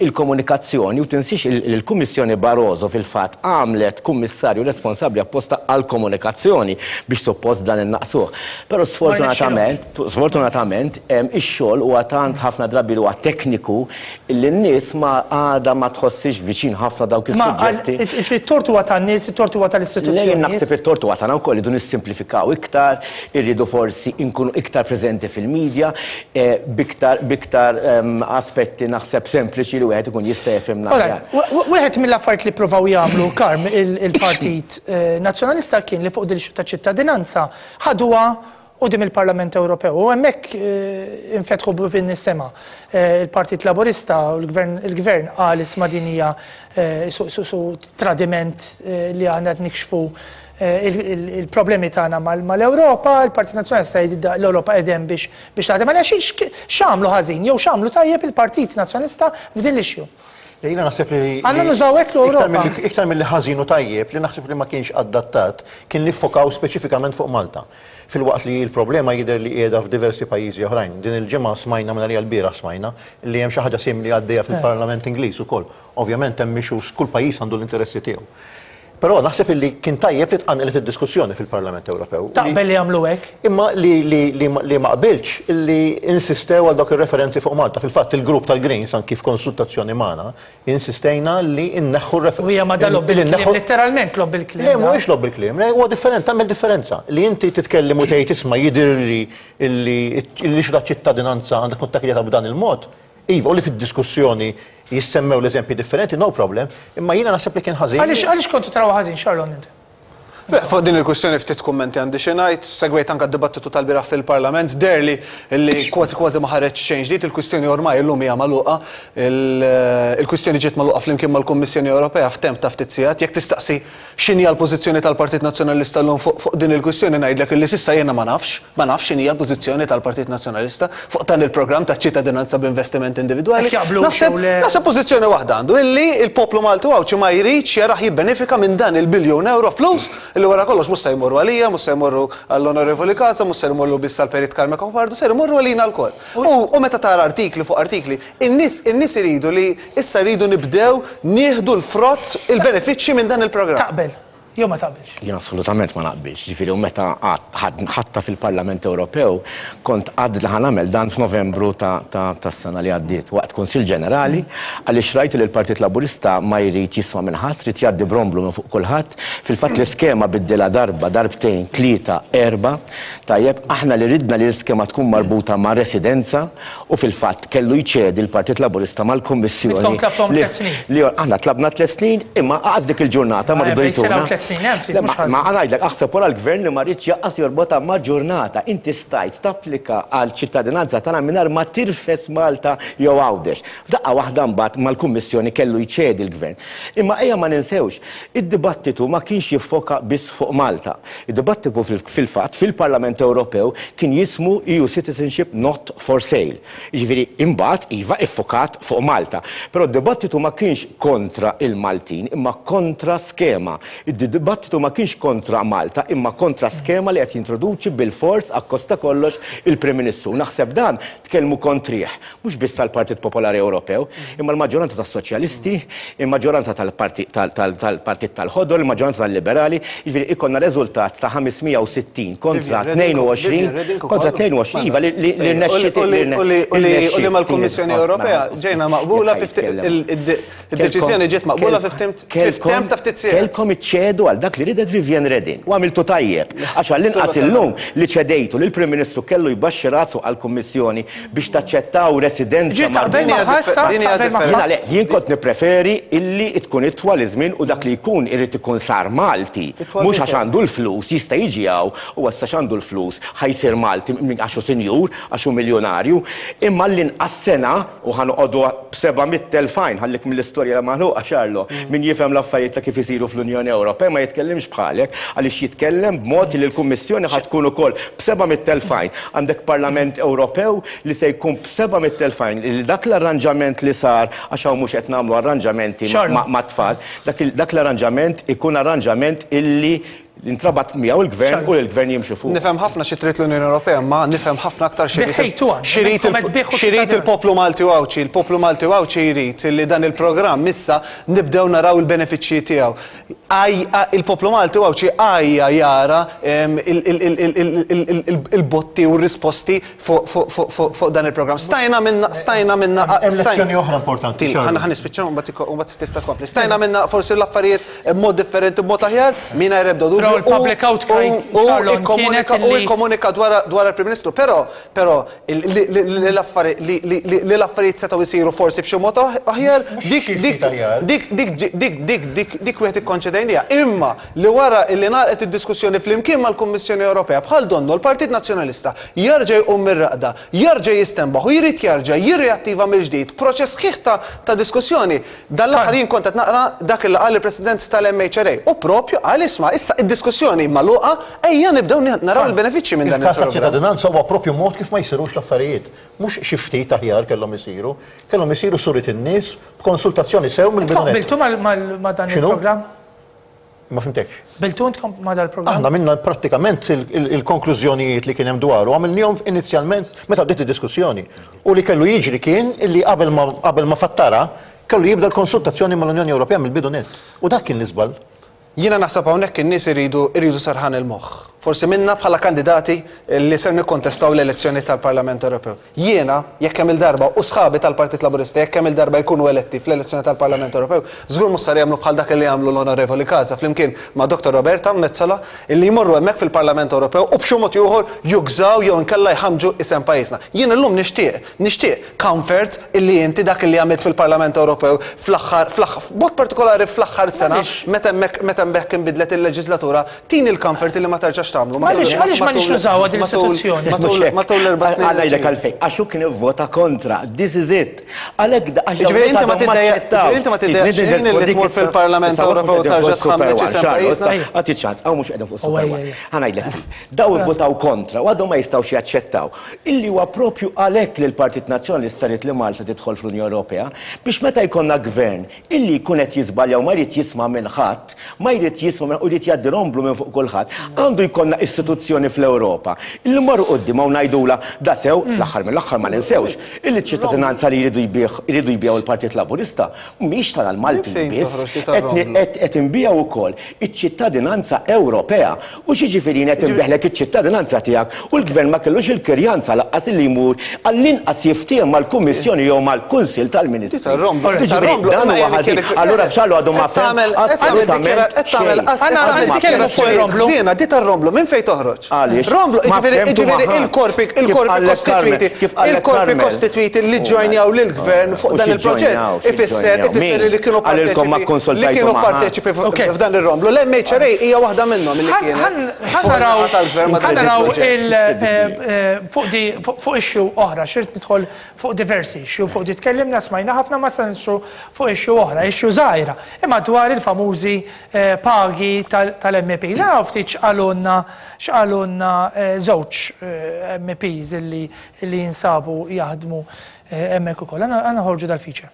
Speaker 6: il-komunikazzjoni u tinsiex il-Kummissjoni Barroso fil-fatt għamlet kummissarju responsabbli apposta għall-komunikazzjoni biex suppost dan innaqsuh. Però sfortunatament, sfortunatament ix-xogħol huwa tant ħafna drabi huwa tekniku li n-nies ma għadha ma tħossix viċin ħafna dawk is-suġġetti.
Speaker 1: Ġifieri t-tort huwa tan-nies, it-tort huwa tal-istituzzjonijiet.
Speaker 6: Le, naħseb it-tort huwa tagħna wkoll irridu nissimplifikaw iktar, irridu forsi nkunu iktar preżenti fil-medja, biktar biktar aspetti naħseb sempliċi li wieħed ikun jista' jifhimna aħjar.
Speaker 1: Wieħed mill-affarijiet li ppruvaw jagħmlu Karm il-Partit Nazzjonalista kien li fuq din ta' ċittadinanza ħaduha quddiem il-Parlament Ewropew u hemmhekk infetħu bibien is-sema. Il-Partit Laburista u l-Gvern qal isma' din hija su tradiment li għandna qed nikxfu il-problemi tagħna mal-Ewropa, il-Partit Nazzjonalista jgħid l-Ewropa qegħdem biex biex taħdem. Għaliex x'għamlu ħażin jew x'għamlu tajjeb il-Partit Nazzjonalista f'din l-issue?
Speaker 5: Jiena naħseb li.
Speaker 1: Għandna nużaw hekk l-Ewropa.
Speaker 5: Iktar milli ħażin u tajjeb li naħseb li ma kienx adattat kien li ffokaw speċifikament fuq Malta. Filwaqt li l-problema jidher li qiegħda f'diversi pajjiżi oħrajn. Din il-ġimgħa smajna minn għalija l-bieraħ smajna li hemm xi ħaġa simili għaddejja fil-Parlament Ingliż ukoll. Ovvjament hemm issues, kull pajjiż għandu l-interessi tiegħu. Però naħseb illi kien tajjeb li tqanqlet id-diskussjoni fil-Parlament Ewropew.
Speaker 1: Taqbel li jagħmlu hekk?
Speaker 5: Imma li, li, li, li ma qbilx illi insistew għal dawk ir-referenzi fuq Malta. Fil-fatt il-grupp tal-Greens anki f'konsultazzjoni magħna insistejna li nneħħu r-referenzi.
Speaker 1: U hija ma dan logħob bil-kliem, letteralment logħob bil-kliem.
Speaker 5: Le, mhuwiex logħob bil-kliem, le, huwa different, tagħmel differenza. Li inti titkellem u tgħid isma' jidhirli illi l-issue ta' ċittadinanza għandha tkun tackle-jata b'dan il-mod. Iva, u li fid-diskussjoni jissemmew l-eżempji differenti, no problem, imma jiena naħseb li kien ħażin.
Speaker 1: Għaliex għaliex kontu taraw ħażin, Charlon, inti?
Speaker 4: Fuq din il-kwistjoni ftit kummenti għandi xi ngħid, segwejt anke d-dibattitu tal-bieraħ fil-Parlament, deherli li kważi kważi ma ħareġ xejn ġdid, il-kwistjoni ormai illum hija magħluqa, il-kwistjoni ġiet magħluqa flimkien mal-Kummissjoni Ewropea f'temp ta' ftit sigħat. Jekk tistaqsi x'inhi l-pożizzjoni tal-Partit Nazzjonalista llum fuq din il-kwistjoni ngħidlek illi s'issa jiena ma nafx, ma nafx x'inhi l-pożizzjoni tal-Partit Nazzjonalista fuq dan il-programm ta' ċittadinanza b'investiment individwali. Naħseb naħseb pożizzjoni waħda għandu illi il-poplu Malti u Għawdxi ma jridx jarah jibbenefika minn dan il-biljun euro flus illi wara kollox mhux se jmorru għalija, mhux se jmorru għall-Onorevoli Casa, mhux se jmorru biss għall-Perit Carm Cacopardo, se jmorru għalina lkoll. U meta tara artikli fuq artikli, in-nies in-nies iridu li issa jridu nibdew nieħdu l-frott, il-benefiċċji minn dan il-programm.
Speaker 1: Taqbel, jew ma taqbilx?
Speaker 6: Jien assolutament ma naqbilx. Ġifieri u meta ħatta fil-Parlament Ewropew kont għad li ħa nagħmel dan f'Novembru tas-sena li għaddiet waqt Kunsill Ġenerali, għaliex rajt li l-Partit Laburista ma jrid jisma' minn ħadd, trid jgħaddi bromblu minn fuq kulħadd. Fil-fatt l-iskema biddilha darba, darbtejn, tlieta, erba. Tajjeb, aħna li ridna li l-iskema tkun marbuta ma' residenza u fil-fatt kellu jċedi l-Partit Laburista mal-Kummissjoni.
Speaker 1: Intkom tlabtom tliet snin.
Speaker 6: Li aħna tlabna tliet snin, imma qas dik il-ġurnata ma rridu jtuna. Ma ngħidlek, aħseb wara l-gvern li ma rridx jaqqas jorbotha ma' ġurnata. Inti stajt tapplika għal ċittadinanza tagħna mingħajr ma tirfes Malta jew Għawdex. F'daqqa waħda mbagħad mal-Kummissjoni kellu jċedi l-gvern. Imma ejja ma ninsewx, id-dibattitu ma kienx jiffoka biss fuq Malta. Id-dibattitu fil-fatt fil-Parlament Ewropew kien jismu E U Citizenship Not for Sale. Jiġifieri imbagħad iva iffokat fuq Malta. Però d-dibattitu ma kienx kontra il-Maltin, imma kontra skema. Id-dibattitu ma kienx kontra Malta, imma kontra skema li qed jintroduċi bil-fors akkosta kollox il-Prim Ministru. Naħseb dan tkellmu kontrih, mhux biss tal-Partit Popolari Ewropew, imma l-maġġoranza tas-Soċjalisti, il-maġġoranza tal-Partit tal-Ħodor, il-maġġoranza tal-Liberali, jiġifieri ikonna riżultat ta' ħames mija u sittin kontra tnejn u għoxrin, kontra tnejn u għoxrin, iva li rnexxiet
Speaker 4: U li mal-Kummissjoni Ewropea ġejna maqbula id-deċiżjoni ġiet maqbula f'temp ta' ftit sigħat.
Speaker 6: Kelkom iċċedu għal dak li ridet Viviane Reding u għamiltu tajjeb. Għax għall-inqas illum li ċedejtu li l-Prim Ministru kellu jbaxxi rasu għall-Kummissjoni biex taċċettaw residenza marbuta. Jien kont nippreferi illi tkun itwal iż-żmien u dak li jkun irid ikun sar Malti. Mhux għax għandu l-flus jista' jiġi hawn u issa għandu l-flus ħajsir Malti għax hu sinjur, għax hu miljonarju, imma l-inqas sena u ħanoqogħdu b'seba' mitt elf fajn ħallik mill-istorja li maħluqa Xarlo, min jifhem l-affarijiet ta' kif isiru fl-Unjoni Ewropea ma jitkellimx bħalek għaliex jitkellem b'mod li l-Kummissjoni ħad tkun ukoll b'seba' mitt elf fajn. Għandek Parlament Ewropew li se jkun b'seba' mitt elf fajn. Li dak l-arranġament li sar għax hawn mhux qed nagħmlu arranġamenti mat-tfal, dak l-arranġament ikun arranġament illi intrabat miegħu il-gvern u l-gvern jimxu fuq.
Speaker 4: Nifhem ħafna xi trid l-Unjoni Ewropea, ma nifhem ħafna aktar xi jrid il-poplu Malti u Għawdxi. Il-poplu Malti u Għawdxi jrid li dan il-programm issa nibdew naraw il-benefiċċji tiegħu. Il-poplu Malti u Għawdxi għajja jara il-botti u r-risposti fuq dan il-programm. Stajna minna stajna minna
Speaker 5: Hemm lezzjoni oħra importanti.
Speaker 4: Ħa nispiċċaw u mbagħad tista' tkompli. Stajna minna forsi l-affarijiet b'mod differenti b'mod aħjar mingħajr ebda dubju.
Speaker 1: Il-public outcry
Speaker 4: U ikkomunika dwar il-Prim Ministru, però però li l-affarijiet setgħu jsiru forsi b'xi mod aħjar, dik dik dik dik dik dik dik wieħed ikkonċedejnija. Imma li wara li ngħalqet id-diskussjoni flimkien mal-Kummissjoni Ewropea bħal donnu l-Partit Nazzjonalista jerġa' jqum mir-raqda, jerġa' jistenbaħ u jrid jerġa' jirreattiva mill-ġdid proċess sħiħ ta' diskussjoni. Dan l-aħħar jien kont qed naqra dak li qal il-President tal-M H R A u propju qal isma' issa id Id-diskussjoni magħluqa, ejja nibdew naraw il-benefiċċji minn dan
Speaker 5: Il-każ ta'
Speaker 4: il-programm.
Speaker 5: ċittadinanza huwa propju mod kif ma jsirux l-affarijiet. Mhux xi ftit aħjar kellhom isiru, kellhom isiru surit in-nies b'konsultazzjoni sew mill-bidu nett.
Speaker 1: Qbiltu mal- mal- ma' dan
Speaker 5: X'inhu?
Speaker 1: il-programm?
Speaker 5: Ma fhimtekx.
Speaker 1: Qbiltu intkom ma' dan il-programm?
Speaker 5: Aħna minna prattikament il- il- il-konklużjonijiet li kien hemm dwaru għamilnihom inizjalment meta bdiet id-diskussjoni. U li kellu jiġri kien illi qabel ma qabel ma fattara kellu jibda l-konsultazzjoni mal-Unjoni Ewropea mill-bidu nett. U dak kien l-iżball.
Speaker 4: Jiena naħseb hawnhekk in-nies iridu iridu serħan il-moħħ. Forsi minna bħala kandidati li ser nikkontestaw l-elezzjoni tal-Parlament Ewropew. Jiena jekk hemm il-darba u sħabi tal-Partit Laburista jekk hemm il-darba jkunu eletti fl-elezzjoni tal-Parlament Ewropew, żgur mhux sar jagħmlu bħal dak li jagħmlu l-Onorevoli Casa flimkien ma' Dottor Roberta Metsola illi jmorru hemmhekk fil-Parlament Ewropew u b'xi mod ieħor jugżaw jew inkella jħamġu isem pajjiżna. Jien illum nixtieq, nixtieq comfort illi inti dak li għamilt fil-Parlament Ewropew fl-aħħar fl-aħħar b'mod partikolari fl-aħħar sena meta hemmhekk meta hemmhekk inbidlet il-leġislatura, tini l-comfort illi ma terġax tagħmlu.
Speaker 1: Għaliex għaliex ma nix nużawha din l-istituzzjoni?
Speaker 4: Matul matul l-erba' snin.
Speaker 6: Għalla jgħidlek għalfejn, għax hu kien ivvota kontra, this is it. Għalhekk da- għax
Speaker 4: Ġifieri inti ma
Speaker 6: dawn għadhom
Speaker 4: tiddejjaq-
Speaker 6: aċċettaw.
Speaker 4: ġifieri inti ma tiddejjaqx xejn li tmur fil-Parlament Ewropew tarġa' tħammeġ isem pajjiżna?
Speaker 6: Għati ċans, għaw mhux qegħdin fuq
Speaker 1: Oh,
Speaker 6: Super
Speaker 1: ejja,
Speaker 6: One.
Speaker 1: ejja.
Speaker 6: Ħa ngħidlek, daw ivvotaw kontra u għadhom ma jistgħux jaċċettaw. Illi huwa propju għalhekk li l-Partit Nazzjonalista ried li Malta tidħol fl-Unjoni Ewropea biex meta jkollna gvern illi jkun qed jiżbalja u ma jrid jisma' minn ħadd, ma jrid jisma' minn u jrid jgħaddi romblu minn fuq kulħadd, għandu jkollna istituzzjoni fl-Ewropa. Illi marru quddiem u ngħidula da sew fl-aħħar mill-aħħar ma ninsewx illi ċ-ċittadinanza li jridu jbigħ jridu jbigħu l-Partit Laburista mhix tal-Maltin
Speaker 4: Minn fejn
Speaker 6: biss,
Speaker 4: toħroġ li
Speaker 6: qed
Speaker 4: tar-romblu?
Speaker 6: qed qed inbiegħu wkoll iċ-ċittadinanza Ewropea. U x'jiġifieri qed inbiħlek iċ-ċittadinanza tiegħek u l-gvern ma kellux il-kirjanza lanqas li jmur għall-inqas jiftiehem mal-Kummissjoni jew mal-Kunsill tal-Ministri.
Speaker 4: Tar-romblu,
Speaker 6: Jiġifieri
Speaker 4: tar-romblu,
Speaker 6: dan
Speaker 4: imma
Speaker 6: huwa
Speaker 4: jien
Speaker 6: ħażin.
Speaker 4: kif-
Speaker 6: Allura b'xallu għadu ma
Speaker 4: Qed tagħmel
Speaker 6: fehem
Speaker 4: qed tagħmel dikjara-
Speaker 6: assolutament
Speaker 4: qed tagħmel
Speaker 6: xejn.
Speaker 4: qed
Speaker 1: Għanna-
Speaker 4: tagħmel
Speaker 1: għanna nitkellmu fuq ir-romblu.
Speaker 4: dikjarazzjonijiet ħżiena, di tar-romblu minn fejn toħroġ?
Speaker 6: Għaliex?
Speaker 4: Romblu,
Speaker 6: Ma
Speaker 4: jiġifieri
Speaker 6: fehmtu
Speaker 4: jiġifieri
Speaker 6: ma ħadd.
Speaker 4: il-korpi
Speaker 6: Kif
Speaker 4: il-korpi
Speaker 6: qallek
Speaker 4: kostitwiti
Speaker 6: Carmel, kif qallek
Speaker 4: il-korpi
Speaker 6: Carmel.
Speaker 4: kostitwiti li ġojnjaw lill-gvern fuq
Speaker 6: U
Speaker 4: dan
Speaker 6: xi
Speaker 4: il-proġett
Speaker 6: ġojnjaw, xi
Speaker 4: ifisser
Speaker 6: ġojnjaw.
Speaker 4: ifisser
Speaker 6: Min?
Speaker 4: li kienu
Speaker 6: Għalilkom ma
Speaker 4: parteċipi li
Speaker 6: kkonsultajtu
Speaker 4: kienu
Speaker 6: ma ħadd.
Speaker 4: parteċipi f'dan ir-romblu. L-M H R A hija waħda minnhom li kienet.
Speaker 1: Ħa naraw
Speaker 4: Fuq tal-gvern ma'
Speaker 1: ħa
Speaker 4: dan
Speaker 1: naraw
Speaker 4: il-proġett.
Speaker 1: il eh, eh, fuq di fuq fuq issue oħra, xirt nidħol fuq diversi issue, fuq di tkellimna smajna ħafna ma se nidħlu fuq issue oħra, issue żgħira, imma dwar il-famużi eh, pagi tal-M Ps. Naraw ftit x'qalulna x'qalulna eh, żewġ eh, M Ps illi illi jinsabu jaħdmu eh, hemmhekk ukoll. Għandna noħorġu dal-feature.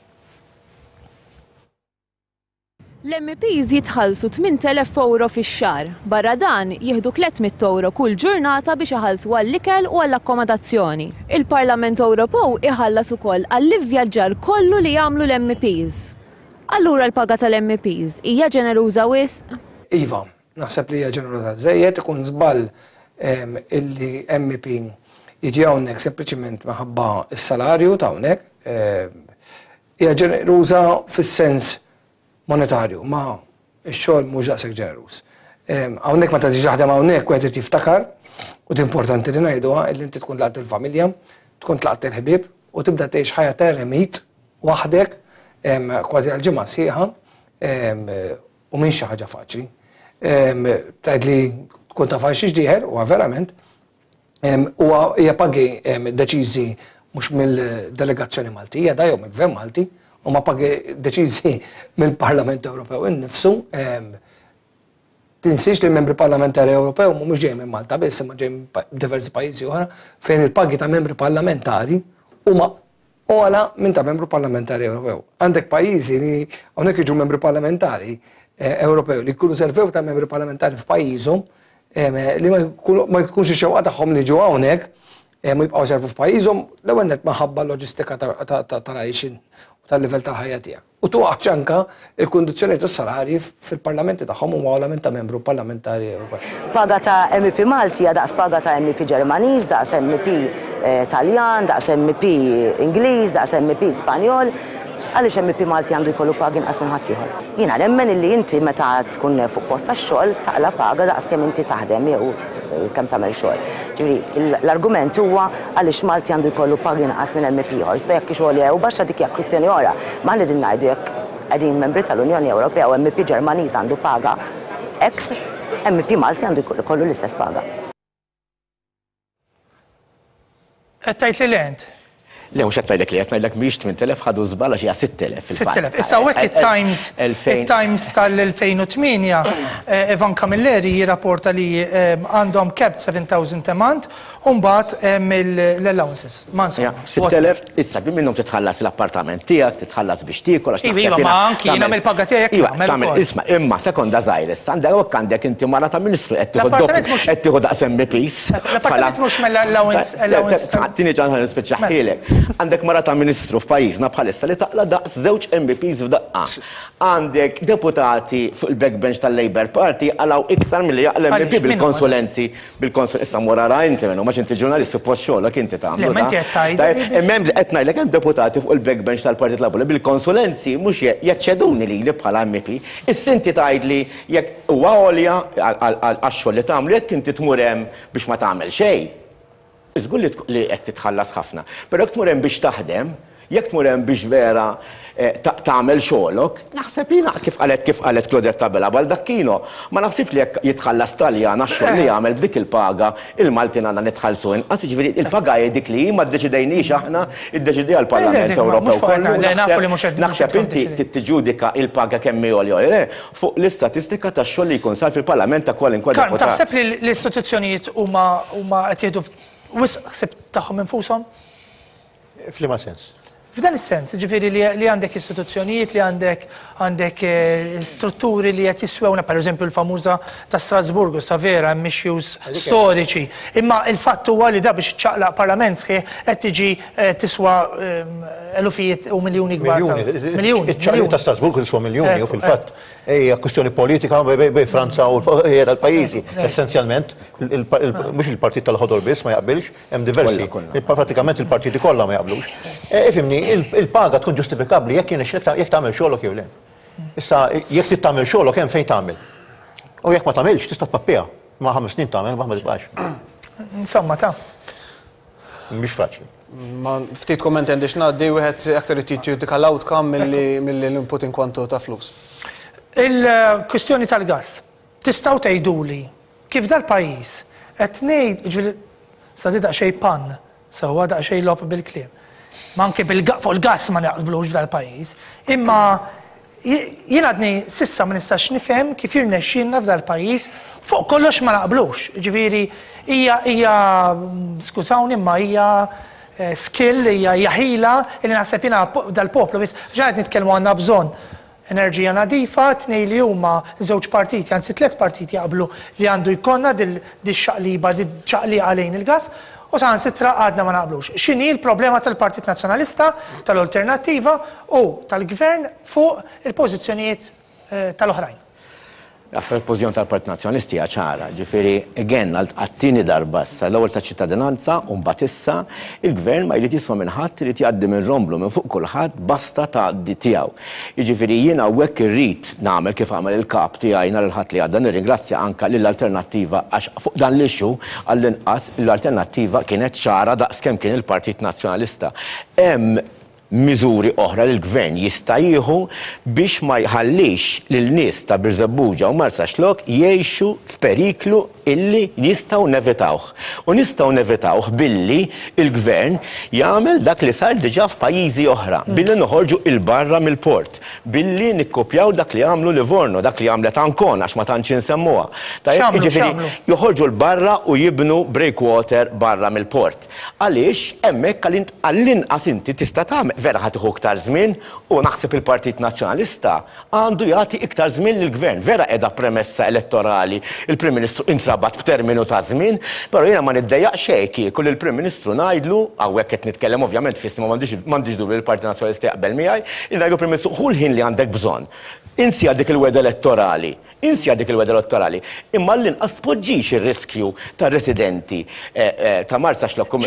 Speaker 7: L-M Ps jitħallsu tmint elef euro fix-xahar. Barra dan jieħdu tliet mitt euro kull ġurnata biex iħallsu għall-ikel u għall-akkomodazzjoni. Il-Parlament Ewropew iħallas ukoll għall-ivvjaġġar kollu li jagħmlu l-M Ps. Allura l-paga tal-M Ps hija ġeneruża wisq?
Speaker 15: Iva, naħseb li hija ġeneruża żejjed, ikun żball em, illi M P jiġi hawnhekk sempliċiment minħabba s-salarju ta' hawnhekk. em, Hija ġeneruża fis-sens monetarju, ma x-xogħol mhux daqshekk ġeneruż. Em, Hawnhekk meta tiġi taħdem hawnhekk wieħed irid jiftakar u importanti li ngħiduha illi inti tkun tlaqt il-familja, tkun tlaqt il-ħbieb u tibda tgħix ħajja ta' eremit waħdek em, kważi għal ġimgħa sħiħa em, u minn xi ħaġa faċli. Em, Tgħid li tkun taf għal xiex dieħel, huwa verament, em, huwa hija pagi em, deċiżi mhux mill-delegazzjoni Maltija, da jew mill-Gvern Malti, huma pagi deċiżi mill-Parlament Ewropew innifsu. em, Tinsiex li l-membri parlamentari Ewropew mhumiex ġej minn Malta biss, imma ġej minn pa- diversi pajjiżi oħra fejn il-pagi ta' membri parlamentari huma ogħla minn ta' membru parlamentari Ewropew. Għandek pajjiżi li hawnhekk jiġu membri parlamentari eh, Ewropew li jkunu servew ta' membri parlamentari f'pajjiżhom em, li ma jkunu- ma jkunx ix-xewqa tagħhom li ġew hawnhekk eh, ma jibqgħu servu f'pajjiżhom l-ewwel nett minħabba loġistika ta- ta- ta- tal-għajxin u tal-livell tal-ħajja tiegħek. U tuqgħodx anka il-kundizzjoni tas-salarji fil-parlamenti tagħhom huma ogħla minn ta' membru parlamentari Ewropew.
Speaker 16: Paga ta' M E P Malti hija daqs paga ta' M E P Ġermaniż, daqs M E P eh, Taljan, daqs M E P Ingliż, daqs M E P Spanjol. Għaliex M E P Malti għandu jkollu pagi inqas minn ħaddieħor? Jiena nemmen illi inti meta tkun fuq post tax-xogħol taqla paga daqs kemm inti taħdem jew kemm tagħmel xogħol. Ġifieri l-argument huwa għaliex Malti għandu jkollu pagi inqas minn M E P ieħor. Issa jekk xogħol jew baxxa dik hija kwistjoni oħra. Ma qegħdin ngħidu jekk qegħdin membri tal-Unjoni Ewropea u M E P Ġermaniż għandu paga X, M E P Malti għandu jkollu l-istess paga.
Speaker 1: Qed tgħid li lent.
Speaker 6: Le, mhux qed ngħidlek li qed ngħidlek mhijiex tmien elef ħadu żball għax hija sitt elef fil-fatt.
Speaker 1: sitt elef. Issa hawnhekk it-Times it-Times tal-elfejn u tmienja Evan Camilleri jirrapporta li għandhom capped seven thousand a month u mbagħad l-allowances. Ma insomma.
Speaker 6: sitt elef, issa minnhom titħallas l-appartament tiegħek, titħallas biex tiekol għax
Speaker 1: Iva, ma anki jiena mill-paga tiegħek nagħmel ukoll.
Speaker 6: Isma', imma sekonda żgħir issa, għandek għandek inti mara ta' ministru qed tieħu qed tieħu daqs M Ps.
Speaker 1: L-appartament mhux mill-allowance.
Speaker 6: Tini ċans nispiċċaħħielek. Għandek mara ta' ministru f'pajjiżna bħalissa li taqla daqs żewġ M Ps f'daqqa. Għandek deputati fuq il-backbench tal-Labour Party għalaw iktar milli jaqla M P bil-konsulenzi, bil-konsulenzi, issa mur ara inti minnu, ma inti ġurnalist suppost xogħolok inti tagħmlu.
Speaker 1: Le, ma inti qed tgħid.
Speaker 6: Imma hemm qed ngħidlek hemm deputati fuq il-backbench tal-Partit Laburista bil-konsulenzi mhux jaċċeduni lili bħala M P. Issa inti tgħidli jekk huwa għolja għax-xogħol li tagħmlu jekk inti tmur hemm biex ma tagħmel xejn. Żgur li qed titħallas ħafna. Però jekk tmur hemm biex taħdem, jekk tmur hemm biex vera tagħmel xogħolok, naħseb jiena kif qalet kif qalet Claudette Abela Baldacchino, ma naħsibx li jekk jitħallas Taljan għax-xogħol li jagħmel b'dik il-paga, il-Maltin għandna nitħallsu inqas, jiġifieri il-paga hi dik li hi ma ddeċidejniex aħna, iddeċidejha l-Parlament Ewropew kollu. Naħseb inti tiġġudika il-paga kemm hi għolja le fuq l-istatistika tax-xogħol li jkun sar fil-Parlament ta' kwalinkwa deputat.
Speaker 1: Taħseb li l-istituzzjonijiet huma huma qed jieħdu wisq ħsieb tagħhom infushom?
Speaker 5: F'liema sens?
Speaker 1: F'dan is-sens, ġifieri li għandek istituzzjonijiet, li għandek għandek strutturi li qed jiswewna, pereżempju l-famuża ta' Strasburgu, sa vera hemm issues storiċi. Imma il-fatt huwa li da biex iċċaqlaq parlament sħiħ qed tiġi tiswa elufijiet u miljuni kbar.
Speaker 5: Miljuni. Iċ-ċaqliq ta' Strasburgu tiswa miljuni u fil-fatt hija kwistjoni politika bejn Franza u tal-pajjiżi. Essenzjalment, mhux il-Partit tal-Ħodor biss ma jaqbilx, hemm diversi. Pratikament il-partiti kollha ma jaqblux. Ifhimni, il-paga tkun ġustifikabbli jekk jekk tagħmel xogħolok jew le. Issa jekk trid tagħmel xogħolok hemm fejn tagħmel. U jekk ma tagħmilx tista' tpappiha. Ma ħames snin tagħmel, ma tibqax.
Speaker 1: Insomma ta'
Speaker 5: Mhix faċli.
Speaker 4: Ma ftit kommenti għandix ngħaddi wieħed aktar irid jiġġudika l-outcome milli l-input in kwantu ta' flus.
Speaker 1: Il-kwistjoni tal-gas. Tistgħu tgħiduli kif dal-pajjiż qed ngħid, ġifieri sa di daqsxejn pan, sewwa daqsxejn logħob bil-kliem. Ma anke fuq il-gas ma naqblux f'dal-pajjiż, imma jien għadni sissa ma nistax nifhem kif jirnexxielna f'dal-pajjiż fuq kollox ma naqblux. Ġifieri hija hija skużawni imma hija skill, hija ħila li naħseb jiena dal-poplu biss ġa qed nitkellmu għandna bżonn enerġija nadifa, tnej li huma żewġ partiti, anzi tliet partiti jaqblu li għandu jkollna dil-xaqliba, dil-ċaqliqa lejn il-gas, u saħansitra għadna ma naqblux. X'inhi l-problema tal-Partit Nazzjonalista, tal-Alternattiva u tal-Gvern fuq il-pożizzjonijiet tal-oħrajn?
Speaker 6: Għasar il-pożizzjoni tal-Partit Nazzjonalista hija ċara, ġifieri again għat-tieni darba issa l-ewwel ta' ċittadinanza u mbagħad issa il-Gvern ma jrid jisma' minn ħadd, irid jgħaddi minn romblu minn fuq kulħadd basta tgħaddi tiegħu. Jiġifieri jiena hawnhekk irrid nagħmel kif għamel il-kap tiegħi nhar il-Ħadd li għadda, nirringrazzja anke lill-Alternattiva għax fuq dan l-issue għall-inqas l-Alternattiva kienet ċara daqs kemm kien il-Partit Nazzjonalista. Hemm miżuri oħra li l-gvern jista' jieħu biex ma jħallix lil nies ta' Birżebbuġa u Marsaxlokk jgħixu f'periklu illi jistgħu nevitawh. U nistgħu nevitawh billi il-gvern jagħmel dak li sar diġà f'pajjiżi oħra, billi noħorġu il-barra mill-port, billi nikkopjaw dak li għamlu Livorno, dak li għamlet Ancona għax ma tantx insemmuha. Tajjeb, jiġifieri joħorġu l-barra u jibnu breakwater barra mill-port. Għaliex hemmhekk għall-inqas inti tista' tagħmel vera ħa tieħu iktar żmien u naħseb il-Partit Nazzjonalista għandu jagħti iktar żmien lill-gvern. Vera qiegħda premessa elettorali, il-Prim Ministru intrabat b'terminu ta' żmien, però jiena ma niddejjaq xejn kieku lill Prim Ministru ngħidlu, hawnhekk qed nitkellem ovvjament f'ismu m'għandix dubju li l-Partit Nazzjonalista jaqbel miegħi, ngħidlu Prim Ministru ħu l-ħin li għandek bżonn. Insja dik il-weda elettorali, insja dik il-weda elettorali, imma l-inqas tpoġġix ir-riskju tar-residenti ta' Marsaxlokk u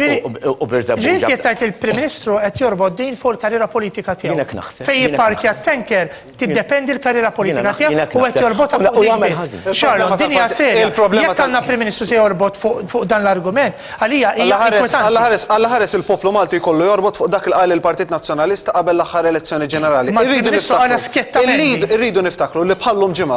Speaker 6: Birżebbuġa.
Speaker 1: Ġieli qed tgħid il-Prim Ministru qed jorbot din fuq il-karriera politika tiegħu.
Speaker 6: Jiena naħseb.
Speaker 1: Fejn jipparkja t-tanker tiddependi l-karriera politika tiegħu u qed jorbotha fuq din biss. Charlon, din hija serja. Jekk għandna Prim Ministru se jorbot fuq dan l-argument, għalija hija inkwetanti.
Speaker 4: Alla ħares il-poplu Malti jkollu jorbot fuq dak il qal il-Partit Nazzjonalista qabel l-aħħar elezzjoni ġenerali.
Speaker 1: Irridu niftakru.
Speaker 4: Irridu niftakru li bħallum ġimgħa,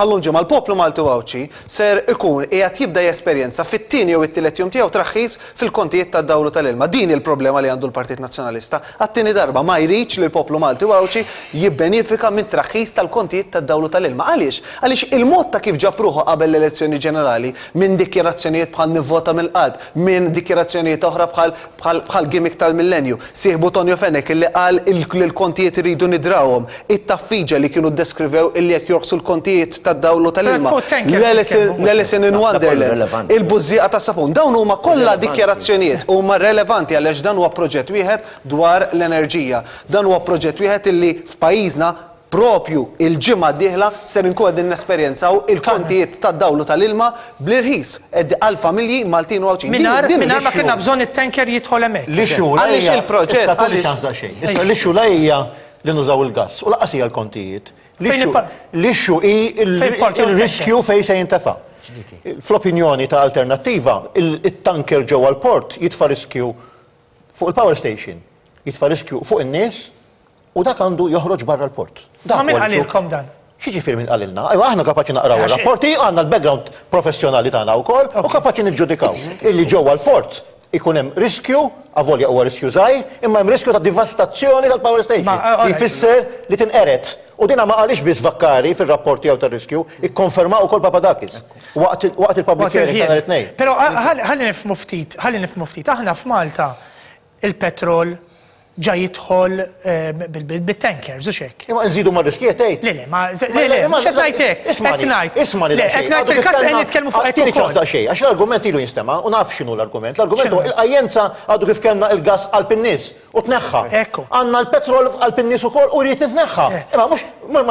Speaker 4: Bħal-lum ġimgħa l-poplu Malti u Għawdxi ser ikun qiegħed jibda jesperjenza fit-tieni jew it-tielet jum tiegħu traħħis fil-kontijiet tad-dawl u tal-ilma. Din il-problema li għandu l-Partit Nazzjonalista. Għat-tieni darba ma jridx li l-poplu Malti u Għawdxi jibbenefika minn traħħis tal-kontijiet tad-dawl u tal-ilma. Għaliex? Għaliex il-mod ta' kif ġab ruħu qabel l-elezzjoni ġenerali minn dikjarazzjonijiet bħal nivvota mill-qalb, minn dikjarazzjonijiet oħra bħal bħal gimmick tal-millenju. Sieħbu Tonio Fenech illi qal il-kontijiet iridu nidrawhom, it-taffiġa li kienu deskrivew illi jekk jorħsu l-kontijiet tad-dawl u tal-ilma. L-Alice in Wonderland, il-bużżieqa tas-sapun, dawn huma kollha dikjarazzjonijiet huma relevanti għaliex dan huwa proġett wieħed dwar l-enerġija. Dan huwa proġett wieħed illi f'pajjiżna propju il-ġimgħa d-dieħla ser inkun qegħdin nesperjenzaw il-kontijiet tad-dawl u tal-ilma bl-irħis għal familji Maltin u Għawdxin.
Speaker 1: Mingħajr ma kellna bżonn it-tanker jidħol hemmhekk.
Speaker 4: Għaliex il-proġett
Speaker 5: għaliex. Issa l-issue la hija li nużaw il-gass u lanqas hija l-kontijiet. L-issue hi il-riskju fejn se jintefa'. Fl-opinjoni ta' Alternattiva, il-tanker ġewwa l-port jitfa' riskju fuq il-power station, jitfa' riskju fuq in-nies, u dak għandu joħroġ barra l-port.
Speaker 1: Ma min qalilkom dan?
Speaker 5: X'jiġifieri min qalilna? Ejwa, aħna kapaċi naqraw ir-rapporti, għandna l-background professjonali tagħna wkoll u kapaċi niġġudikaw illi ġewwa l-port ikun hemm riskju, avolja huwa riskju żgħir, imma hemm riskju ta' devastazzjoni tal-power station. Jfisser li tinqered. U dina ma qalix biss Vaccari fir-rapport tiegħu tar-riskju, ikkonferma wkoll Papadakis waqt il-public hearing ta' nhar it-Tnejn.
Speaker 1: Però ħalli nifhmu ftit, ħalli nifhmu ftit, aħna f'Malta il-petrol ġa jidħol bit-tankers, u xek.
Speaker 5: Imma nżidu ma' riski tgħid.
Speaker 1: Le, le, ma le, le, mhux qed ngħid hekk. Qed ngħid.
Speaker 5: Isma'
Speaker 1: Le, qed ngħid fil-każ qed nitkellmu fuq hekk
Speaker 5: ukoll. Xejn, għax l-argument ilu jinstema' u naf x'inhu l-argument. L-argument huwa il-qajjenza għadu kif kellna il-gas qalb in-nies u tneħħa. Għandna l-petrol qalb in-nies ukoll u jrid nitneħħa. Imma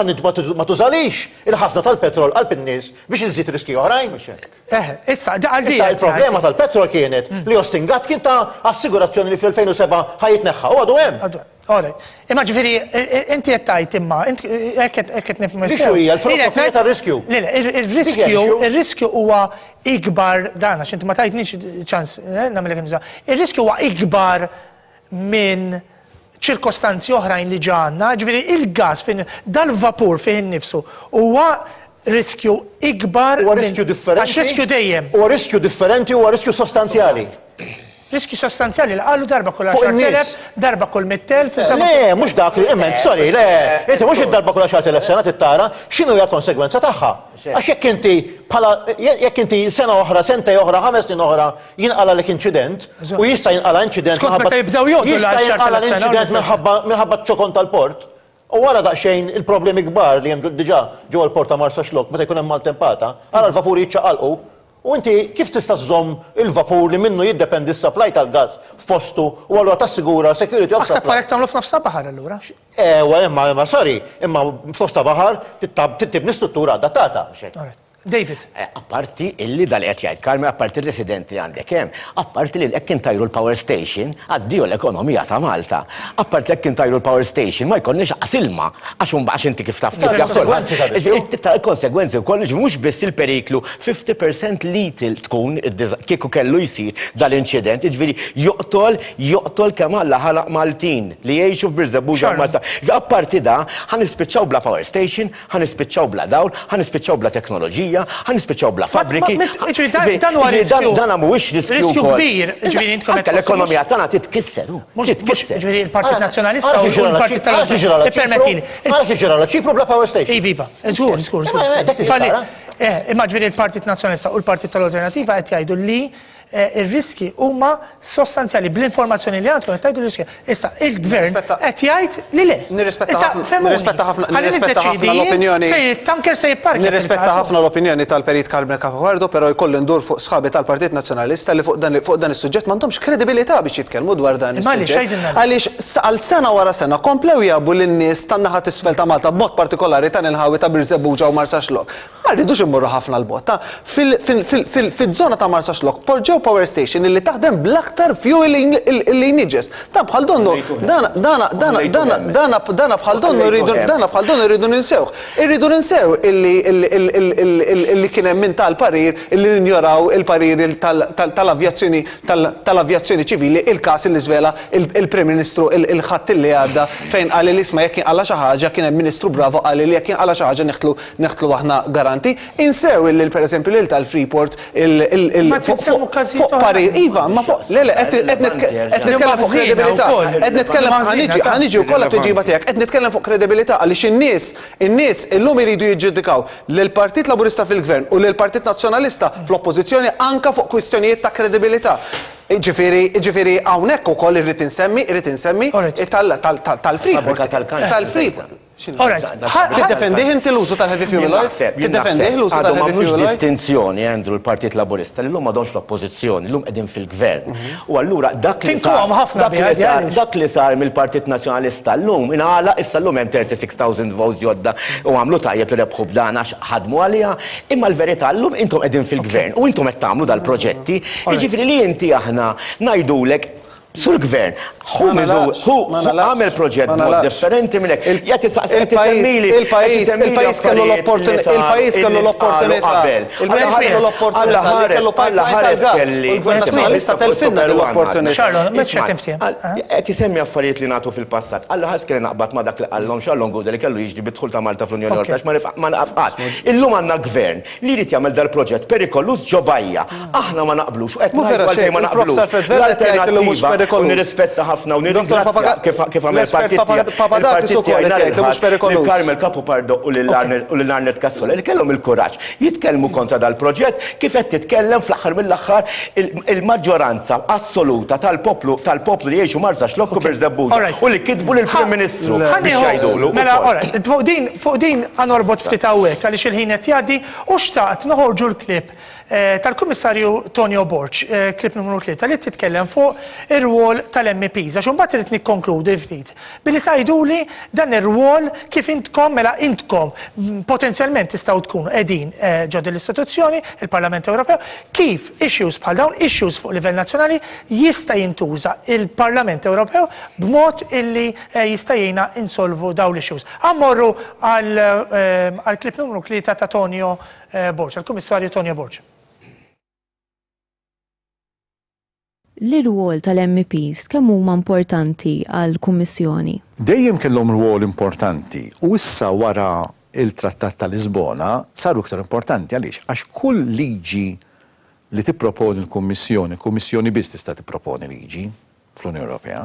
Speaker 5: mhux ma tużalix il-ħażna tal-petrol qalb in-nies biex inżid riski oħrajn.
Speaker 1: Eh, issa, għal
Speaker 5: Il-problema tal-petrol kienet li Austin Gatt kien ta assigurazzjoni li fl-elfejn u sebgħa ħa jitneħħa u għadu hemm.
Speaker 1: Imma ġifieri, inti qed tgħid imma, hekk qed nifhmu.
Speaker 5: L-issue hija l-filosofija tar-riskju.
Speaker 1: Le, le, ir-riskju, ir-riskju huwa ikbar dan, għax inti ma tajtniex ċans nagħmel hekk. Ir-riskju huwa ikbar minn ċirkostanzi oħrajn li ġanna, ġifieri il-gas fin dal-vapur fih innifsu huwa riskju ikbar.
Speaker 5: Huwa riskju differenti.
Speaker 1: Għax riskju dejjem.
Speaker 5: Huwa riskju differenti, huwa riskju sostanzjali.
Speaker 1: Riskju sostanzjali li qalu darba kull għaxar elef, darba kull mitt elf.
Speaker 5: Le, mhux dak li imment, sorry, le, inti mhux id-darba kull għaxar elef sena tittara x'inhu hija konsegwenza tagħha. Għax jekk inti bħala jekk inti sena oħra, sentej oħra, ħames snin oħra jinqala lek inċident u jista' jinqala inċident jista' jinqala l-inċident minħabba ċ-ċokon tal-port. U wara daqsxejn il-problemi kbar li hemm diġà ġewwa l-port ta' Marsaxlokk meta jkun hemm maltempata, ara l-vapuri jiċċaqalqu. U inti kif tista' żżomm il-vapur li minnu jiddependi s-supply tal-gas f'postu u allura tassigura security of supply?
Speaker 1: Aħseb għalhekk tagħmlu f'nofs ta' baħar allura.
Speaker 5: Ewa, imma imma sorry, imma f'nofs ta' baħar tibni struttura adattata.
Speaker 1: David.
Speaker 6: Apparti illi dal qed jgħid Carmen, apparti r-residenti li għandek hemm, apparti li hekk intajru l-power station, addio l-ekonomija ta' Malta. Apparti hekk intajru l-power station ma jkollniex aqas ilma, għax imbagħad għax inti kif taf kif jaf kulħadd. Il-konsegwenzi wkoll mhux biss il-periklu fifty percent lethal tkun kieku kellu jsir dal-inċident, jiġifieri joqtol joqtol kemm Alla ħalaq Maltin li jgħixu f'Birżebbuġa Malta. Apparti da, ħa nispiċċaw bla power station, ħa nispiċċaw bla dawl, ħa nispiċċaw bla teknoloġija, ħa nispiċċaw bla fabbriki.
Speaker 1: Dan huwa riskju.
Speaker 6: Dan mhuwiex riskju
Speaker 1: Riskju kbir, ġifieri intkom
Speaker 6: Anke l-ekonomija tagħna titkisser. Titkisser.
Speaker 1: Ġifieri il-Partit Nazzjonalista u l-Partit tal-Permettili.
Speaker 5: Ara kif ġara Ċipru bla power station.
Speaker 1: Iva, żgur, żgur, żgur. Imma ġifieri il-Partit Nazzjonalista u l-Partit tal-Alternattiva qed jgħidu li ir-riski huma sostanzjali bl-informazzjoni li għandkom qed tgħidu l-riski. Issa il-gvern qed jgħid li le.
Speaker 4: Nirrispetta ħafna nirrispetta ħafna nirrispetta ħafna l-opinjoni.
Speaker 1: Fejn it-tanker se jipparkja.
Speaker 4: Nirrispetta ħafna l-opinjoni tal-Perit Carmen Cacopardo, però jkolli ndur fuq sħabi tal-Partit Nazzjonalista li fuq dan fuq dan is-suġġett m'għandhomx kredibilità biex jitkellmu dwar dan is-suġġett. Għaliex għal sena wara sena komplew jabu lin-nies tan-naħa t'isfel ta' Malta b'mod partikolari tan inħawi ta' Birżebbuġa u Marsaxlokk. Ma rridux immorru ħafna l-botta. Fil-żona ta' Marsaxlokk poġġew Ewropew power station illi taħdem bl-aktar fuel illi jniġġes. Dan bħal donnu, dana dana dana dana dana dana bħal donnu rridu dana bħal donnu rridu ninsewh. Irridu ninsew illi illi kien hemm min tal-parir illi ninjoraw il-parir tal-avjazzjoni tal-avjazzjoni ċivili, il-każ illi żvela il-Prim Ministru il-ħadd illi għadda fejn qal li isma' jekk jinqala xi ħaġa kien hemm Ministru Bravo qal li jekk jinqala xi ħaġa neħtlu neħtlu aħna garanti. Insew illi pereżempju lil tal-Freeport fuq parir, iva, ma fuq, le le, qed nitkellem fuq kredibilità, qed nitkellem, ħa niġi wkoll għat-tweġiba tiegħek, qed nitkellem fuq kredibilità għaliex in-nies, in-nies illum iridu jiġġudikaw lill-Partit Laburista fil-Gvern u lill-Partit Nazzjonalista fl-Oppożizzjoni anka fuq kwistjonijiet ta' kredibilità. Ġifieri, ġifieri hawnhekk ukoll irrid insemmi, irrid insemmi tal-Freeport, tal-Freeport. Tiddefendih inti l-użu tal-heavy fuel oil? Tiddefendih l-użu tal-heavy fuel oil?
Speaker 6: Distinzjoni, Andrew, l-Partit Laburista li llum m'għadhomx l-oppożizzjoni, llum qegħdin fil-gvern. U allura dak li sar dak li sar mill-Partit Nazzjonalista llum ingħalaq, issa llum hemm thirty-six thousand votes ġodda u għamlu tajjeb li rebħu b'dan għax ħadmu għaliha, imma l-verità llum intom qegħdin fil-gvern u intom qed tagħmlu dal-proġetti. Jiġifieri li inti aħna ngħidulek Sur gvern, hu hu għamel proġett mod differenti minn hekk.
Speaker 4: Il-pajjiż il-pajjiż kellu l-opportunità, il-pajjiż kellu l-opportunità. Il-pajjiż kellu l-opportunità li kellu pipeline tal-gas. Il-Gvern Nazzjonalista telfinna din l-opportunità.
Speaker 6: Qed isemmi affarijiet li nagħtu fil-passat. Alla ħares kelli naqbad ma' dak li qallhom Charlon Gouder li kellu jiġri bid-dħul ta' Malta fl-Unjoni Ewropea ma naqaf. Illum għandna gvern li jrid jagħmel dal-proġett perikolus ġo bajja. Aħna ma naqblux u qed ngħidu għalfejn ma naqblux. U nirrispetta ħafna u nirringrazzja kif għamel partit tiegħi lil Carmel Capopardo u lil Arnold Cassola li kellhom il-kuraġġ jitkellmu kontra dal-proġett kif qed titkellem fl-aħħar mill-aħħar il-maġġoranza assoluta tal-poplu tal-poplu li jgħixu Marsaxlokk u Birżebbuġa u li kitbu lill-Prim Ministru biex jgħidulu.
Speaker 1: Mela, fuq din fuq din ħa norbot ftit hawnhekk għaliex il-ħin qed jgħaddi u xtaqt noħorġu l-klip tal-Kummissarju Tonio Borg, klip numru tlieta li titkellem fuq ir-rwol tal-M Ps. Għax imbagħad irid nikkonkludi ftit billi tgħiduli dan ir-rwol kif intkom mela intkom potenzjalment tistgħu tkunu qegħdin ġo din l-istituzzjoni, il-Parlament Ewropew, kif issues bħal dawn, issues fuq livell nazzjonali jista' jintuża il-Parlament Ewropew b'mod illi jista' jgħinna insolvu dawn l-issues. Ammorru għal klip numru tlieta ta' Tonio Borg, għall-Kummissarju Tonio Borg.
Speaker 7: L-rwol tal-M Ps kemm huma importanti għall-Kummissjoni?
Speaker 17: Dejjem kellhom rwol importanti u issa wara il-Trattat ta' Lisbona saru iktar importanti. Għaliex? Għax kull liġi li tipproponi l-Kummissjoni, l-Kummissjoni biss tista' tipproponi liġi fl-Unjoni Ewropea,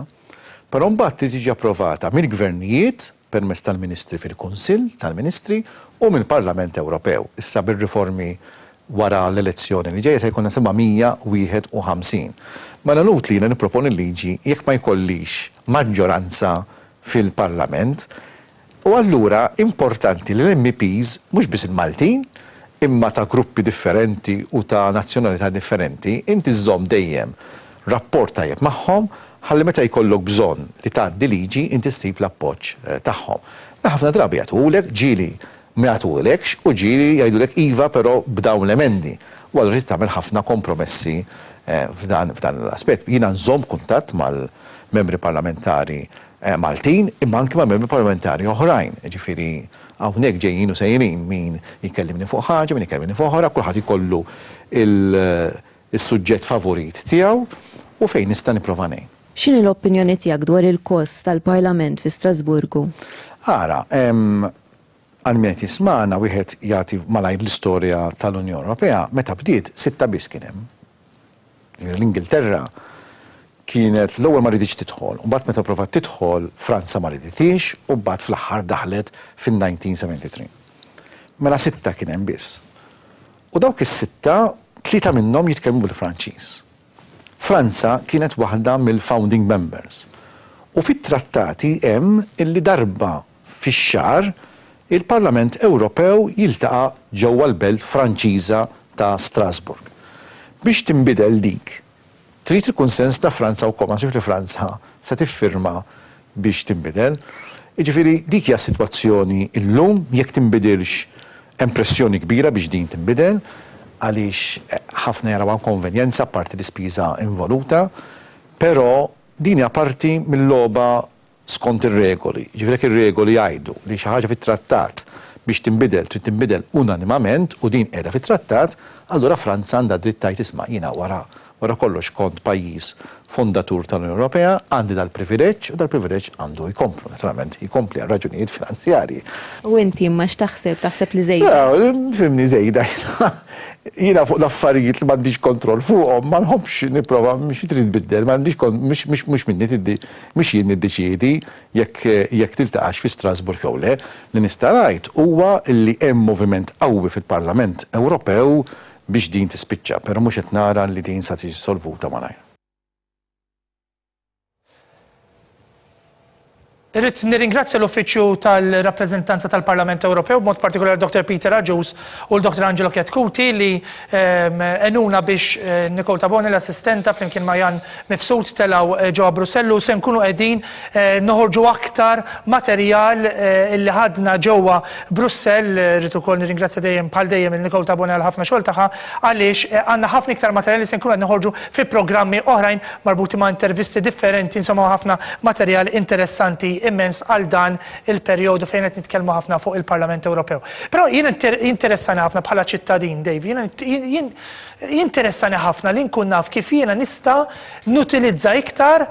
Speaker 17: però mbagħad tiġi approvata mill-gvernijiet permezz tal-Ministri fil-Kunsill tal-Ministri u mill-Parlament Ewropew. Issa bir-riformi wara l-elezzjoni li ġejja se jkollna seba' mija wieħed u ħamsin. Mela nut li jiena nipproponi liġi jekk ma jkollix maġġoranza fil-Parlament. U allura importanti li l-M Ps, mhux biss il-Maltin, imma ta' gruppi differenti u ta' nazzjonalità differenti, inti żżomm dejjem rapport tajjeb magħhom ħalli meta jkollok bżonn li tgħaddi liġi inti ssib l-appoġġ tagħhom. Ħafna drabi jagħtuhulek, ġieli ma jagħtuhulekx u ġieli jgħidulek iva però b'dawn l-emendi. U allura trid tagħmel ħafna kompromessi f'dan l-aspett. Jiena nżomm kuntatt mal-membri parlamentari Maltin imma anke ma' membri parlamentari oħrajn. Ġifieri hawnhekk ġejjin u sejrin min jkellimni fuq ħaġa, min jkellimni fuq oħra, kulħadd ikollu il-suġġett favorit tiegħu u fejn nista' nipprova ngħin.
Speaker 7: X'inhi l-opinjoni tiegħek dwar il-kost tal-Parlament fi Strasburgu?
Speaker 17: Ara, għal min qed jismagħna wieħed jagħti malajr l-istorja tal-Unjoni Ewropea, meta bdiet sitta biss kien hemm. L-Ingilterra kienet l-ewwel ma riditx tidħol, u mbagħad meta provat tidħol Franza ma riditix u mbagħad fl-aħħar daħlet fin-nineteen seventy-three. Mela sitta kien hemm biss. U dawk is-sitta tlieta minnhom jitkellmu bil-Franċiż. Franza kienet waħda mill-founding members. U fit-trattati hemm illi darba fix-xahar il-Parlament Ewropew jiltaqa' ġewwa l-belt Franċiża ta' Strasburg. Biex tinbidel dik, trid il-kunsens ta' Franza wkoll, ma nsibx li Franza se tiffirma biex tinbidel. Jiġifieri dik hija s-sitwazzjoni llum, jekk tinbidilx hemm pressjoni kbira biex din tinbidel. għaliex ħafna jaraw konvenjenza parti l-ispiża involuta, però din hija parti mill-logħba skont ir-regoli. Ġifieri jekk ir-regoli jgħidu li xi ħaġa fit-trattat biex tinbidel trid tinbidel unanimament u din qiegħda fit-trattat, allura Franza għandha dritt tgħid isma' jiena wara wara kollox kont pajjiż fondatur tal-Unjoni Ewropea, għandi dal-privileġġ u dal-privileġġ għandu jkomplu, naturalment jkompli għal raġunijiet finanzjarji.
Speaker 7: U inti imma x'taħseb, taħseb li żejda?
Speaker 17: Fimni żejda. Jiena fuq l-affarijiet li m'għandix kontroll fuqhom ma nħobbx nipprova mhux trid tbiddel, m'għandix mhux mhux minni mhux jien niddeċiedi jekk jekk tiltaqax fi Strasburg jew le. Li nista' ngħid huwa li hemm moviment qawwi fil-Parlament Ewropew biex din tispiċċa, però mhux qed nara li din sa tiġi solvuta malajr.
Speaker 1: Irrid nirringrazzja l-Uffiċċju tal-Rappreżentanza tal-Parlament Ewropew, b'mod partikolari Doctor Peter Agius u l-Doctor Angelo Chetcuti li enuna biex Nicole Tabone, l-assistenta, flimkien ma' Jan Mifsud telaw ġewwa Brussellu. Se nkunu qegħdin noħorġu aktar materjal illi ħadna ġewwa Brussell. Irrid ukoll nirringrazzja dejjem bħal dejjem il Nicole Tabone għal ħafna xogħol tagħha, għaliex għandna ħafna iktar materjal li se nkunu qed noħorġu fi programmi oħrajn marbuti ma' intervisti differenti, insomma ħafna materjal interessanti immens għal dan il-perjodu fejn qed nitkellmu ħafna fuq il-Parlament Ewropew. Però jien interessani ħafna bħala ċittadin, Dave, jien jinteressani ħafna li nkun naf kif jiena nista' nutilizza iktar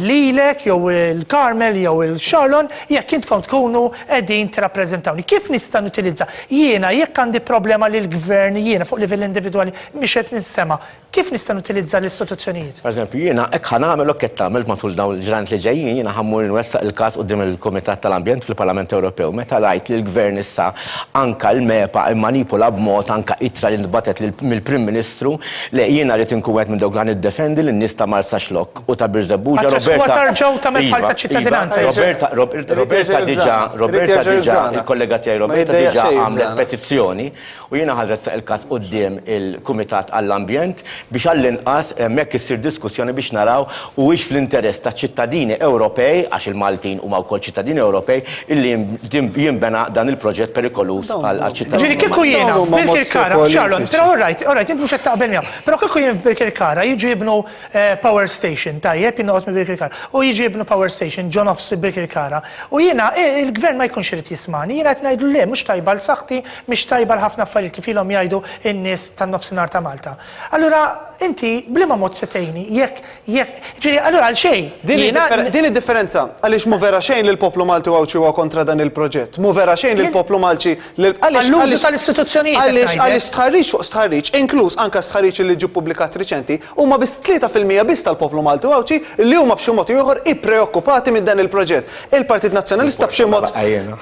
Speaker 1: lilek jew il-Carmel jew il-Charlon jekk intkom tkunu qegħdin tirrappreżentawni. Kif nista' nutilizza? Jiena jekk għandi problema lil gvern jiena fuq livell individwali mhix qed nistema', kif nista' nutilizza l-istituzzjonijiet?
Speaker 6: Per eżempju, jiena hekk ħa nagħmel hekk qed tagħmel matul dawn il-ġranet li ġejjin, jiena ħammur nwessaq il-każ quddiem il-Kumitat tal-Ambjent fil-Parlament Ewropew. Meta rajt li l-Gvern issa anka l-MEPA immanipula b'mod anka ittra li ntbatet mill-Prim Ministru, li jiena rrid inkun wieħed minn dawk li niddefendi lin-nies ta' Marsaxlokk u ta' Birżebbuġa.
Speaker 1: Roberta tarġgħu tagħmel bħal ta' ċittadinanza.
Speaker 6: Roberta Roberta diġà Roberta diġà il-kollega tiegħi Roberta diġà għamlet petizzjoni u jiena ħadressaq il-każ quddiem il-Kumitat għall-Ambjent biex għall-inqas hemmhekk issir diskussjoni biex naraw huwiex fl-interess ta' ċittadini Ewropej, għax il-Maltin huma wkoll ċittadini Ewropej, illi jinbena dan il-proġett perikoluż għal-ċittadini.
Speaker 1: Ġifieri kieku jiena f'Birkirkara, Charlon, però all right, all right, int mhux qed taqbel miegħu, però kieku jien f'Birkirkara jiġu jibnu power station, tajjeb, jien noqgħod minn Birkirkara, u jiġu jibnu power station ġo nofs Birkirkara, u jiena il-gvern ma jkunx irid jismani, jiena qed ngħidlu le mhux tajba l saħħti, mhix tajba l ħafna affarijiet kif ilhom jgħidu n-nies tan-nofsinhar ta' Malta. Allura inti bliema mod se tgħinni jekk jekk ġifieri allura għal xejn.
Speaker 4: Din id-differenza għaliex mu vera xejn li l-poplu Malti u Għawdxi huwa kontra dan il-proġett. Mu vera xejn li l-poplu Malti
Speaker 1: għall-użu tal-istituzzjonijiet.
Speaker 4: Għaliex għaliex stħarriġ fuq stħarriġ, inkluż anke stħarriġ li ġie ppubblikat riċenti, huma biss tlieta fil-mija biss tal-poplu Malti u Għawdxi li huma b'xi mod ieħor ippreokkupati minn dan il-proġett. Il-Partit Nazzjonalista b'xi mod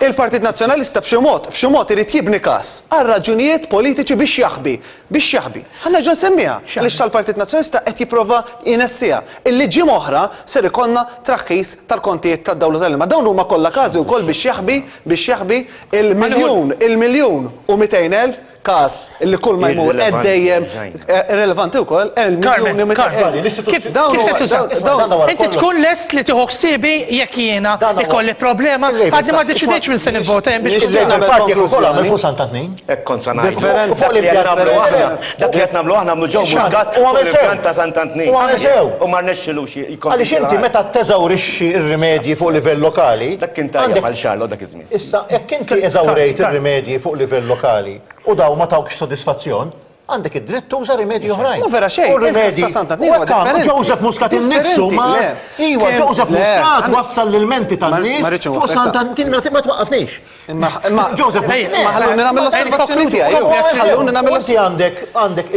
Speaker 4: il-Partit Nazzjonalista b'xi mod b'xi mod irid jibni każ għal raġunijiet politiċi biex jaħbi, biex jaħbi. Ħa nerġa' nsemmiha għaliex tal-Partit Nazzjonalista qed jipprova jnessija. Illi ġimgħa oħra ser ikollna traħħis tal-kontijiet tad-dawla tal-ilma. Dawn huma kollha każi wkoll biex jaħbi biex jaħbi il-miljun il-miljun u mitejn elf każ illi kull ma jmur qed dejjem irrelevanti wkoll il-miljun u mitejn elf.
Speaker 1: Kif se tuża? Inti tkun lest li tieħu ħsiebi jekk jiena ikolli problema għadni ma deċidejtx minn se nivvota hemm biex
Speaker 6: Hekk kont sa ngħid. Dak li qed nagħmlu aħna nagħmlu ġew Muscat u l-impjant ta' Sant'Antnin.
Speaker 5: U għamel sew.
Speaker 6: U ma rnexxilux.
Speaker 5: Għaliex inti meta teżawrixxi r-rimedji fuq livell lokali.
Speaker 6: Dak kien tajjeb għal Xarlo dak iż-żmien.
Speaker 5: Issa jekk inti eżawrejt ir-rimedji fuq livell lokali u daw ma tawkx sodisfazzjon, għandek id-dritt tuża rimedji oħrajn.
Speaker 4: Ma vera xejn,
Speaker 5: U rimedji
Speaker 4: il-każ ta' Sant'Antnin huwa differenti.
Speaker 5: Joseph Muscat innifsu ma. Iwa, Joseph Muscat wassal l-menti tan-nies fuq Sant'Antnin ma twaqqafniex.
Speaker 4: Imma
Speaker 5: Joseph
Speaker 4: ma ħalluni nagħmel l-osservazzjoni tiegħi. Ħalluni nagħmel
Speaker 5: Inti għandek għandek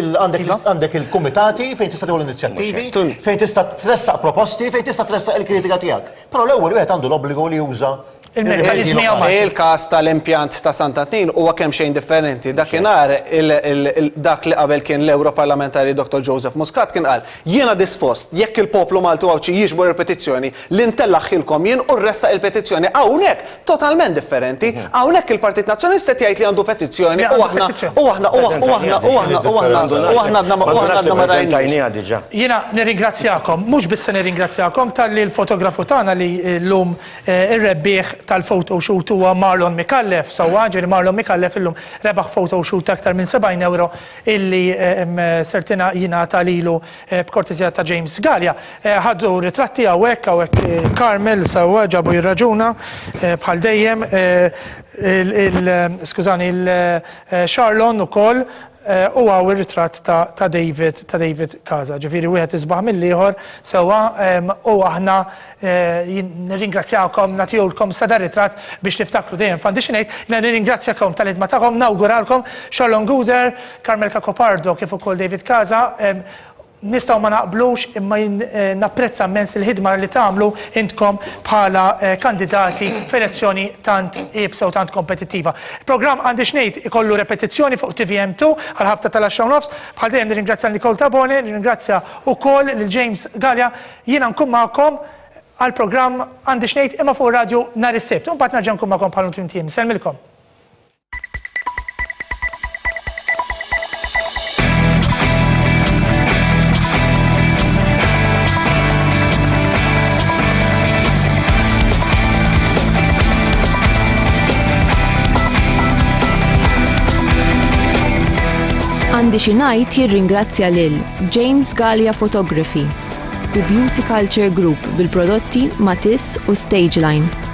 Speaker 5: għandek il-kumitati fejn tista' tieħu l-inizjattivi, fejn tista' tressaq proposti, fejn tista' tressaq il-kritika tiegħek. Però l-ewwel wieħed għandu l-obbligu li juża
Speaker 1: il-mekkaniżmi hawn.
Speaker 4: Il-każ tal-impjant ta' Sant'Antnin huwa kemm xejn differenti. Dakinhar dak li qabel kien l-Europarlamentari Doctor Joseph Muscat kien qal jiena dispost jekk il-poplu Malti u Għawdxi jiġbor il-petizzjoni li ntellaħħilkom jien u rressaq il-petizzjoni. Hawnhekk totalment differenti. Hawnhekk il-Partit Nazzjonalista qed jgħid li għandu petizzjoni u aħna u aħna u aħna u aħna u aħna u aħna għadna u aħna għadna ma rajniex.
Speaker 1: Jiena nirringrazzjakom, mhux biss se nirringrazzjakom talli l-fotografu tagħna li llum ir-rebbieħ tal-photoshoot huwa Marlon Micallef, sewwa ġifieri Marlon Micallef illum rebaħ photoshoot aktar minn sebgħin euro illi sertina jingħata lilu b'kortesija ta' James Galea. Ħaddu ritratti hawnhekk, hawnhekk Carmel sewwa ġabu jirraġuna bħal dejjem, skużani, il-Charlon ukoll, u għaw il-ritratt ta' David, ta' David Casa. Ġifieri wieħed isbaħ mill-ieħor sewwa, u aħna nirringrazzjawkom, nagħtihulkom sa dar ritratt biex niftakru dejjem. F'għandi xi ngħid, jiena nirringrazzjakom tal-ħidma tagħkom, nawguralkom Charlon Gouder, Carmel Cacopardo kif ukoll David Casa. Nistgħu ma naqblux imma napprezza immens il-ħidma li tagħmlu intkom bħala kandidati f'elezzjoni tant iebsa u tant kompetittiva. Il-programm għandi x'ngħid ikollu repetizzjoni fuq T V M two għal ħabta tal-għaxra u nofs. Bħal dejjem nirringrazzja Nicole Tabone, nirringrazzja wkoll lil James Galea. Jiena nkun magħkom għal programm għandi x'ngħid imma fuq radio nhar is-Sibt. U mbagħad nerġa' nkun magħkom bħal tmiem tiem. Sellmilkom.
Speaker 7: Għandi xi ngħid jirringrazzja lil James Galea Photography u Beauty Culture Group bil-prodotti Matisse u Stageline.